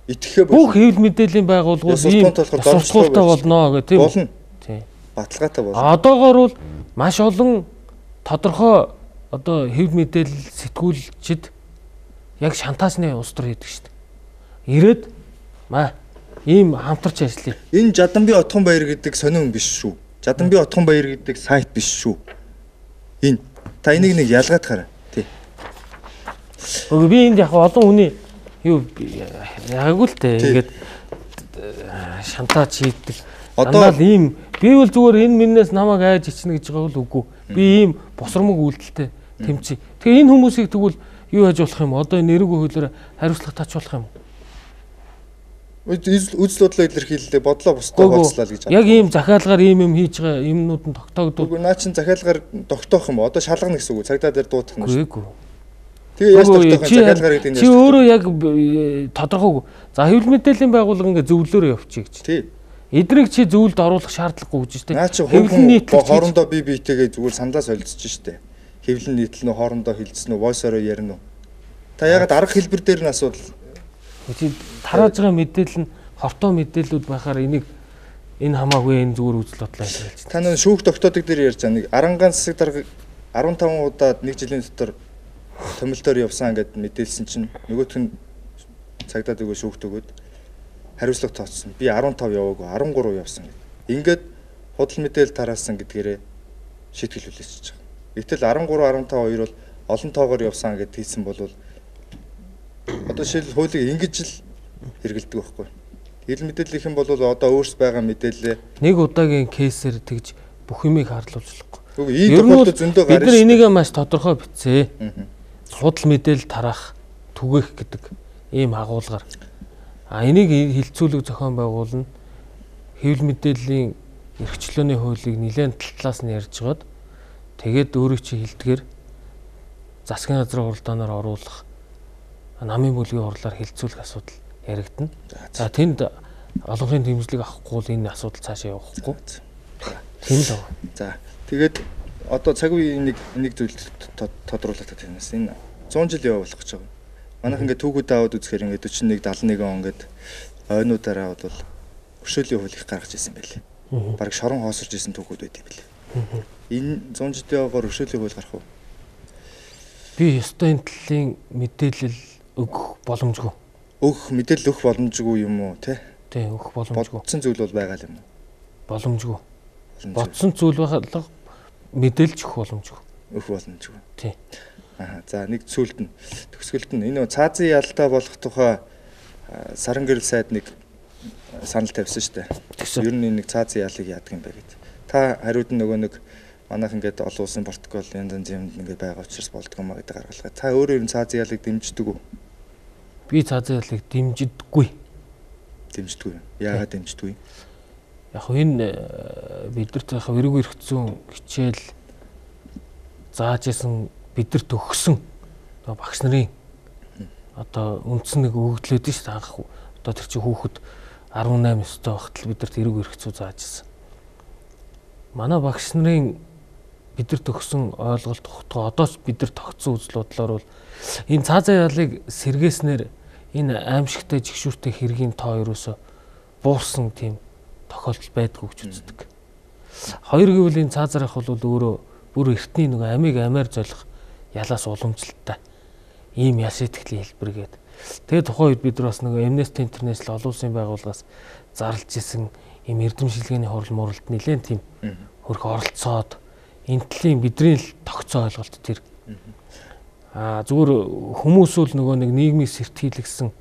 Итгэхээ бүх хэвлэл мэдээллийн байгууллагууд ийм сурталтай болноо гэх тийм болно. Тийм. Баталгаатай болно. Одоогоор бол маш олон тодорхой одоо хэвлэл мэдээлэл сэтгүүлчид яг шантаасны улс төр хийдэг шүү дээ. Ирээд маа ийм хамтарч ажиллая. Энэ Жаданбий Отхон баяр гэдэг сонин биш шүү. Жаданбий Отхон баяр гэдэг сайт биш шүү. Энэ та энийг нэг ялгаад хараа. Тий. Өө би энд яг олон хүний юу яг л тээ ингээд шантаач хийдэг. Одоо л ийм би бол зүгээр энэ миннээс намайг айж ичнэ гэж байгаа бол үгүй. Би ийм босромог үйлдэлтэй тэмцээ. Тэгээ энэ хүмүүсийг тэгвэл юу хийж болох юм? Одоо энэ нэрүүгөө хуулиараа хариуцлага тач болох юм уу? Тэрийг нь хууль зүйн сайдын бол тэрийг л хийлдэ. Тэрийг хурдан яаралтай хийх хэрэгтэй байхгүй. Энэ шууд амсгалч. Тийм Үзэл бодлоо илэрхийллээ, бодлоо бусдаа хуваалцлаа гэж байна. Яг ийм захиалгаар ийм юм хийж байгаа юмнууд нь тогтоогдвол. Үгүй наа чин захиалгаар тогтоох юм. Одоо шалгана гэсэн үг. Цагдаа дээр дуудах юм. Үгүй. Тэгээ яаж тогтоох юм захиалгаар гэдэг нь. Чи өөрөө яг тодорхойгүй. За хэвлэл мэдээллийн байгууллага ингээ зөвлөөрөө явчих гэж. Тий. Эднийг чи зөвлөлд оруулах шаардлагагүй гэж штэ. Хэвлэл нийтлэл хоорондоо бие биетэйгээ зүгээр саналаа солилцож штэ. Хэвлэл нийтлэл нь хоорондоо хилцсэн үү, voice ороо ярина уу? Та ягаад арга хэлбэр дээр нь асуудал. Чи тарааж байгаа мэдээлэл нь хортоо мэдээлүүд байхаар энийг энэ хамаагүй энэ зүгээр үзэл бодлоо хэлж байна. Та нэг шүүх тогтоодыг дээр ярьж байгаа нэг арангаан засаг дарга арван таван удаад нэг жилийн дотор томилтоор явсан гэд мэдээлсэн чинь нөгөөх нь цагдаад өгөө шүүхт өгөөд хариуцлага тооцсон. Би арван тав яваагүй арван гурав явсан гэд. Ингээд худал мэдээлэл тараасан гэдгээрээ шийтгэл хүлээчихэж байгаа. Гэтэл арван гурав арван тав хоёр бол олон тоогоор явсан гэд хэлсэн бол одоо шил хуулийг ингэж л хэрэгэлдэг байхгүй. Хил мэдээлэл их юм бол одоо өөрс байгаа мэдээлэл нэг удаагийн кейсээр тэгж бүх юмыг харлуулчихлахгүй. Үгүй ийм тохиолдол зөндөө гарна. Бид нар энийг маш тодорхой бичсэн. Худал мэдээлэл тараах, түгээх гэдэг ийм агуулгаар. А энийг хилцүүлэг зохион байгуулна. Хэвлэл мэдээллийн эрхчлөөний хуулийг нэлээд талаас нь ярьж гаад тэгээд өөрөө чи хилдгээр засгийн газрын хуралдаанаар оруулах намын бүлгийн хурлаар хилцүүлэх асуудал яригдана. За тэнд олонхын дэмжлэг авахгүй бол энэ асуудал цаашаа явахгүй. Тийм л байна. За тэгээд одоо цаг үеийн нэг нэг зүйл тодруулах та тэрнээс энэ зуун жил явуулах гэж байгаа. Манайх ингээд түүхүүд аваад үзэхээр ингээд forty-one seventy-one он ингээд ойнуудаараа бол өршөөлийн хуулийг гаргаж ирсэн байлээ. Бараг шорон хоосорж ирсэн түүхүүд байт юм билээ. Энэ зуун жилийн яваагаар өршөөлийн хууль гарах уу? Би ёстой энэ талын мэдээлэл өгөх боломжгүй. Өгөх мэдээлэл өгөх боломжгүй юм уу те? Тий, өгөх боломжгүй. Бодсон зүйл бол байгаа юм уу? Боломжгүй. Бодсон зүйл байхад мэдээлж өгөх боломжгүй. Өгөх боломжгүй. Тий. Аа за нэг зүйлд нь төгсгөлд нь энэ цаазын ялтаа болох тухай саран гэрэл сайд нэг санал тавьсан шүү дээ. Ер нь нэг цаазын ялыг яадаг юм бэ гэдэг. Та хариуд нь нөгөө нэг манайх ингээд олон улсын протокол янз янз юмд ингээд байгаа учраас болдгоо маа гэдэг гаргалгаа. Та өөрөө энэ цаазын ялыг дэмждэг үү? Би цаазын ялыг дэмждэггүй. Дэмждэггүй. Яагаад дэмждэггүй? Яг энэ бидэрт яг эргүү эрхцэн хичээл зааж исэн бидэрт өгсөн одоо багш нарын одоо үндсэн нэг өгөгдлөөд нь шүү дээ анх одоо тэр чинь хүүхэд eighteen өстой байхад бидэрт эргүү эрхцүү зааж исэн. Манай багш нарын бидэрт өгсөн ойлголт тогтгоо одоо ч бидэр тогтсон үзэл бодлоор бол энэ цаазын ялыг сэргээснээр энэ аимшигтай жигшүүртэй хэргийн тоо ерөөсө буурсан тийм тохиолдол байдгүй гэж үздэг. Хоёр гэвэл энэ цаазарах бол өөрөө бүр эртний нэг амийг амиар золих ялаас уламжлалтай ийм яс итгэлийн хэлбэргээд тэгээд тухайн үед бид нар бас нэг Amnesty International олон улсын байгууллагаас зарлж исэн ийм эрдэмшилгээний хурал муралд нэлээд тийм хөрх оролцоод энэ талын бидний л тогтцоо ойлголт тэр аа зүгээр хүмүүс бол нөгөө нэг нийгмийг сэртгийлгсэн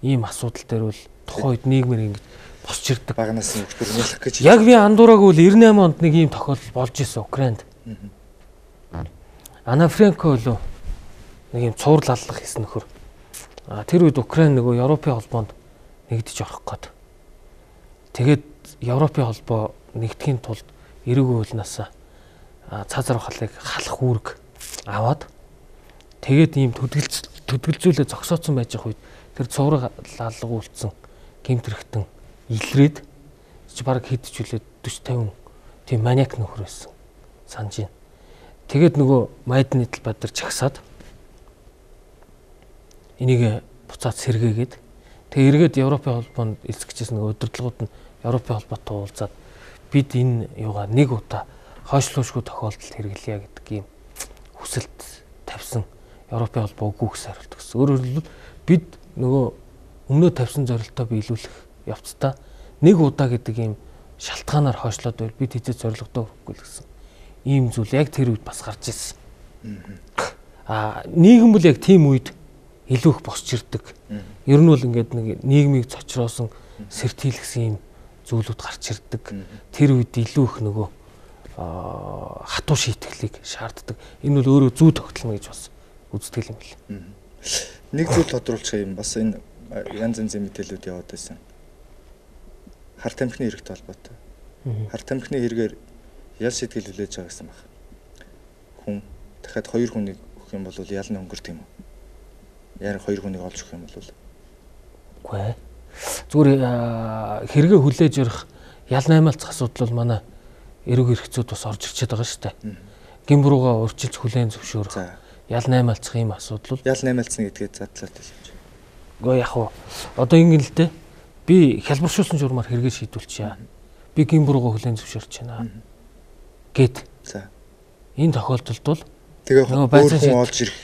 ийм асуудал дээр бол тухайн үед нийгмээр ингэж босч ирдэг. Багнаас нь өгтөр нялах гэж. Яг би андуураагүй бол ninety-eight онд нэг ийм тохиолдол болж исэн Украинд. Ана Франко болов нэг юм цуврал аллах хийсэн нөхөр. А тэр үед Украин нөгөө Европын холбоонд нэгдэж орох гээд. Тэгээд Европын холбоо нэгдэхийн тулд эрүүг уулнасаа цаазар халыг халах үүрэг аваад тэгээд ийм төдөлж төдөлжүүлээ зогсооцсон байж байгаа үед тэр цуврал аллага үлдсэн гэмтэрхтэн илрээд чи баг хэдчихүүлээд forty fifty тийм маниак нөхөр байсан санаж байна. Тэгээд нөгөө Майдан нийтл бадар чагсаад энийг буцаад сэргээгээд тэгээ эргээд Европын холбоонд эзэгчээс нөгөө удирдлагууд нь Европын холбоотой уулзаад бид энэ юугаа нэг удаа хойшлуушгүй тохиолдолд хэрэглэе гэдэг ийм хүсэлт тавьсан Европын холбоо үгүйс хариулт гэсэн. Өөрөөр хэлбэл бид нөгөө өмнөө тавьсан зорилтоо биелүүлэх явцдаа нэг удаа гэдэг ийм шалтгаанаар хойшлоод байвал бид хэзээ зорилгодоо хүрэхгүй л гэсэн. Ийм зүйл яг тэр үед бас гарч ирсэн. Аа нийгэм бол яг тийм үед илүү их босч ирдэг. Ер нь бол ингээд нэг нийгмийг цочроосон сэртийлгсэн ийм зүйлүүд гарч ирдэг. Тэр үед илүү их нөгөө хатуу шийтгэлийг шаарддаг. Энэ бол өөрөө зүй тогтолно гэж бас үздэг юм бэл. Нэг зүйл тодруулах юм бас энэ янз янзын мэдээлэлүүд яваад байсан. хар тамхины хэрэгтэй холбоотой. Хар тамхины хэрэгээр ял шийтгэл хүлээж байгаа гэсэн баг. Хүн дахиад хоёр хүнийг өгөх юм бол ял нь өнгөрт юм уу? Яаран хоёр хүнийг олж өгөх юм бол үгүй ээ. Зүгээр хэрэгээ хүлээж өрөх ял наймаалцах асуудал бол манай эрүүг хэрэгцүүд бас орж ирчээд байгаа шүү дээ. Гимбрууга урьдчилж хүлээн зөвшөөрөх. Ял наймаалцах ийм асуудал. Ял наймаалцна гэдгээ задлаад хэлж. Гэхдээ яг уу одоо ингэ л дээ. Би хялбаршуулсан журмаар хэрэгээ шийдүүлчихье. Би гимбрууга хүлээн зөвшөөрч байна. Гэт. За. Энэ тохиолдолд бол тэгээ өөр хүн олж ирэх.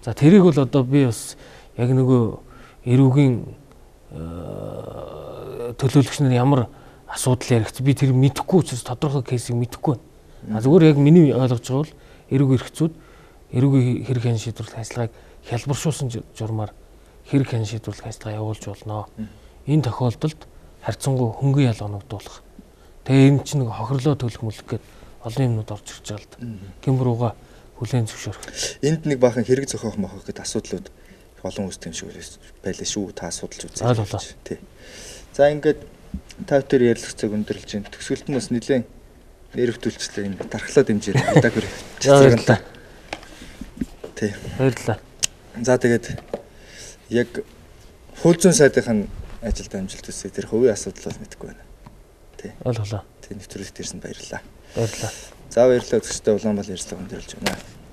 За тэрийг бол одоо би бас яг нөгөө эрүүгийн төлөөлөгч нар ямар асуудал яригч би тэр мэдэхгүй учраас тодорхой кейсийг мэдэхгүй байна. А зүгээр яг миний ойлгож байгаа бол эрүүг хэрэгцүүд эрүүгийн хэрэг хэн шийдвэрлэх ажиллагааг хялбаршуулсан журмаар хэрэг хэн шийдвэрлэх ажиллагаа явуулж болно. Энэ тохиолдолд харьцангуй хөнгөн ял оногдуулах. Тэгээ энэ чинь нэг хохирлоо төлөх мүлэх гээд олон юмнууд орж ирж байгаа л да. Гимбрууга хүлээн зөвшөөрөх. Энд нэг баахан хэрэг зохиох мохох гэдэг асуудлууд олон үүсдэг юм шиг байлаа шүү. Та асуудалж үзээ. Тий. За ингээд та бүхэн ярилцах цаг өндөрлж байна. Төгсгөлт нь бас нэлээд нэрвтүүлчлээ энэ тархлаа дэмжээр удааг хүрээ. Баярлалаа. Тий. Баярлалаа. За тэгээд яг хууль зүйн сайдын ажилд амжилт хүсье. Тэр хувийн асуудал бол мэдэхгүй байна. Тий. Ойлголоо. Тий, нэвтрүүлэгт ирсэн баярлалаа. Баярлалаа. За баярлалаа. Өсөлтөө Улаанбаатар ярьцлага өндөрлж байна.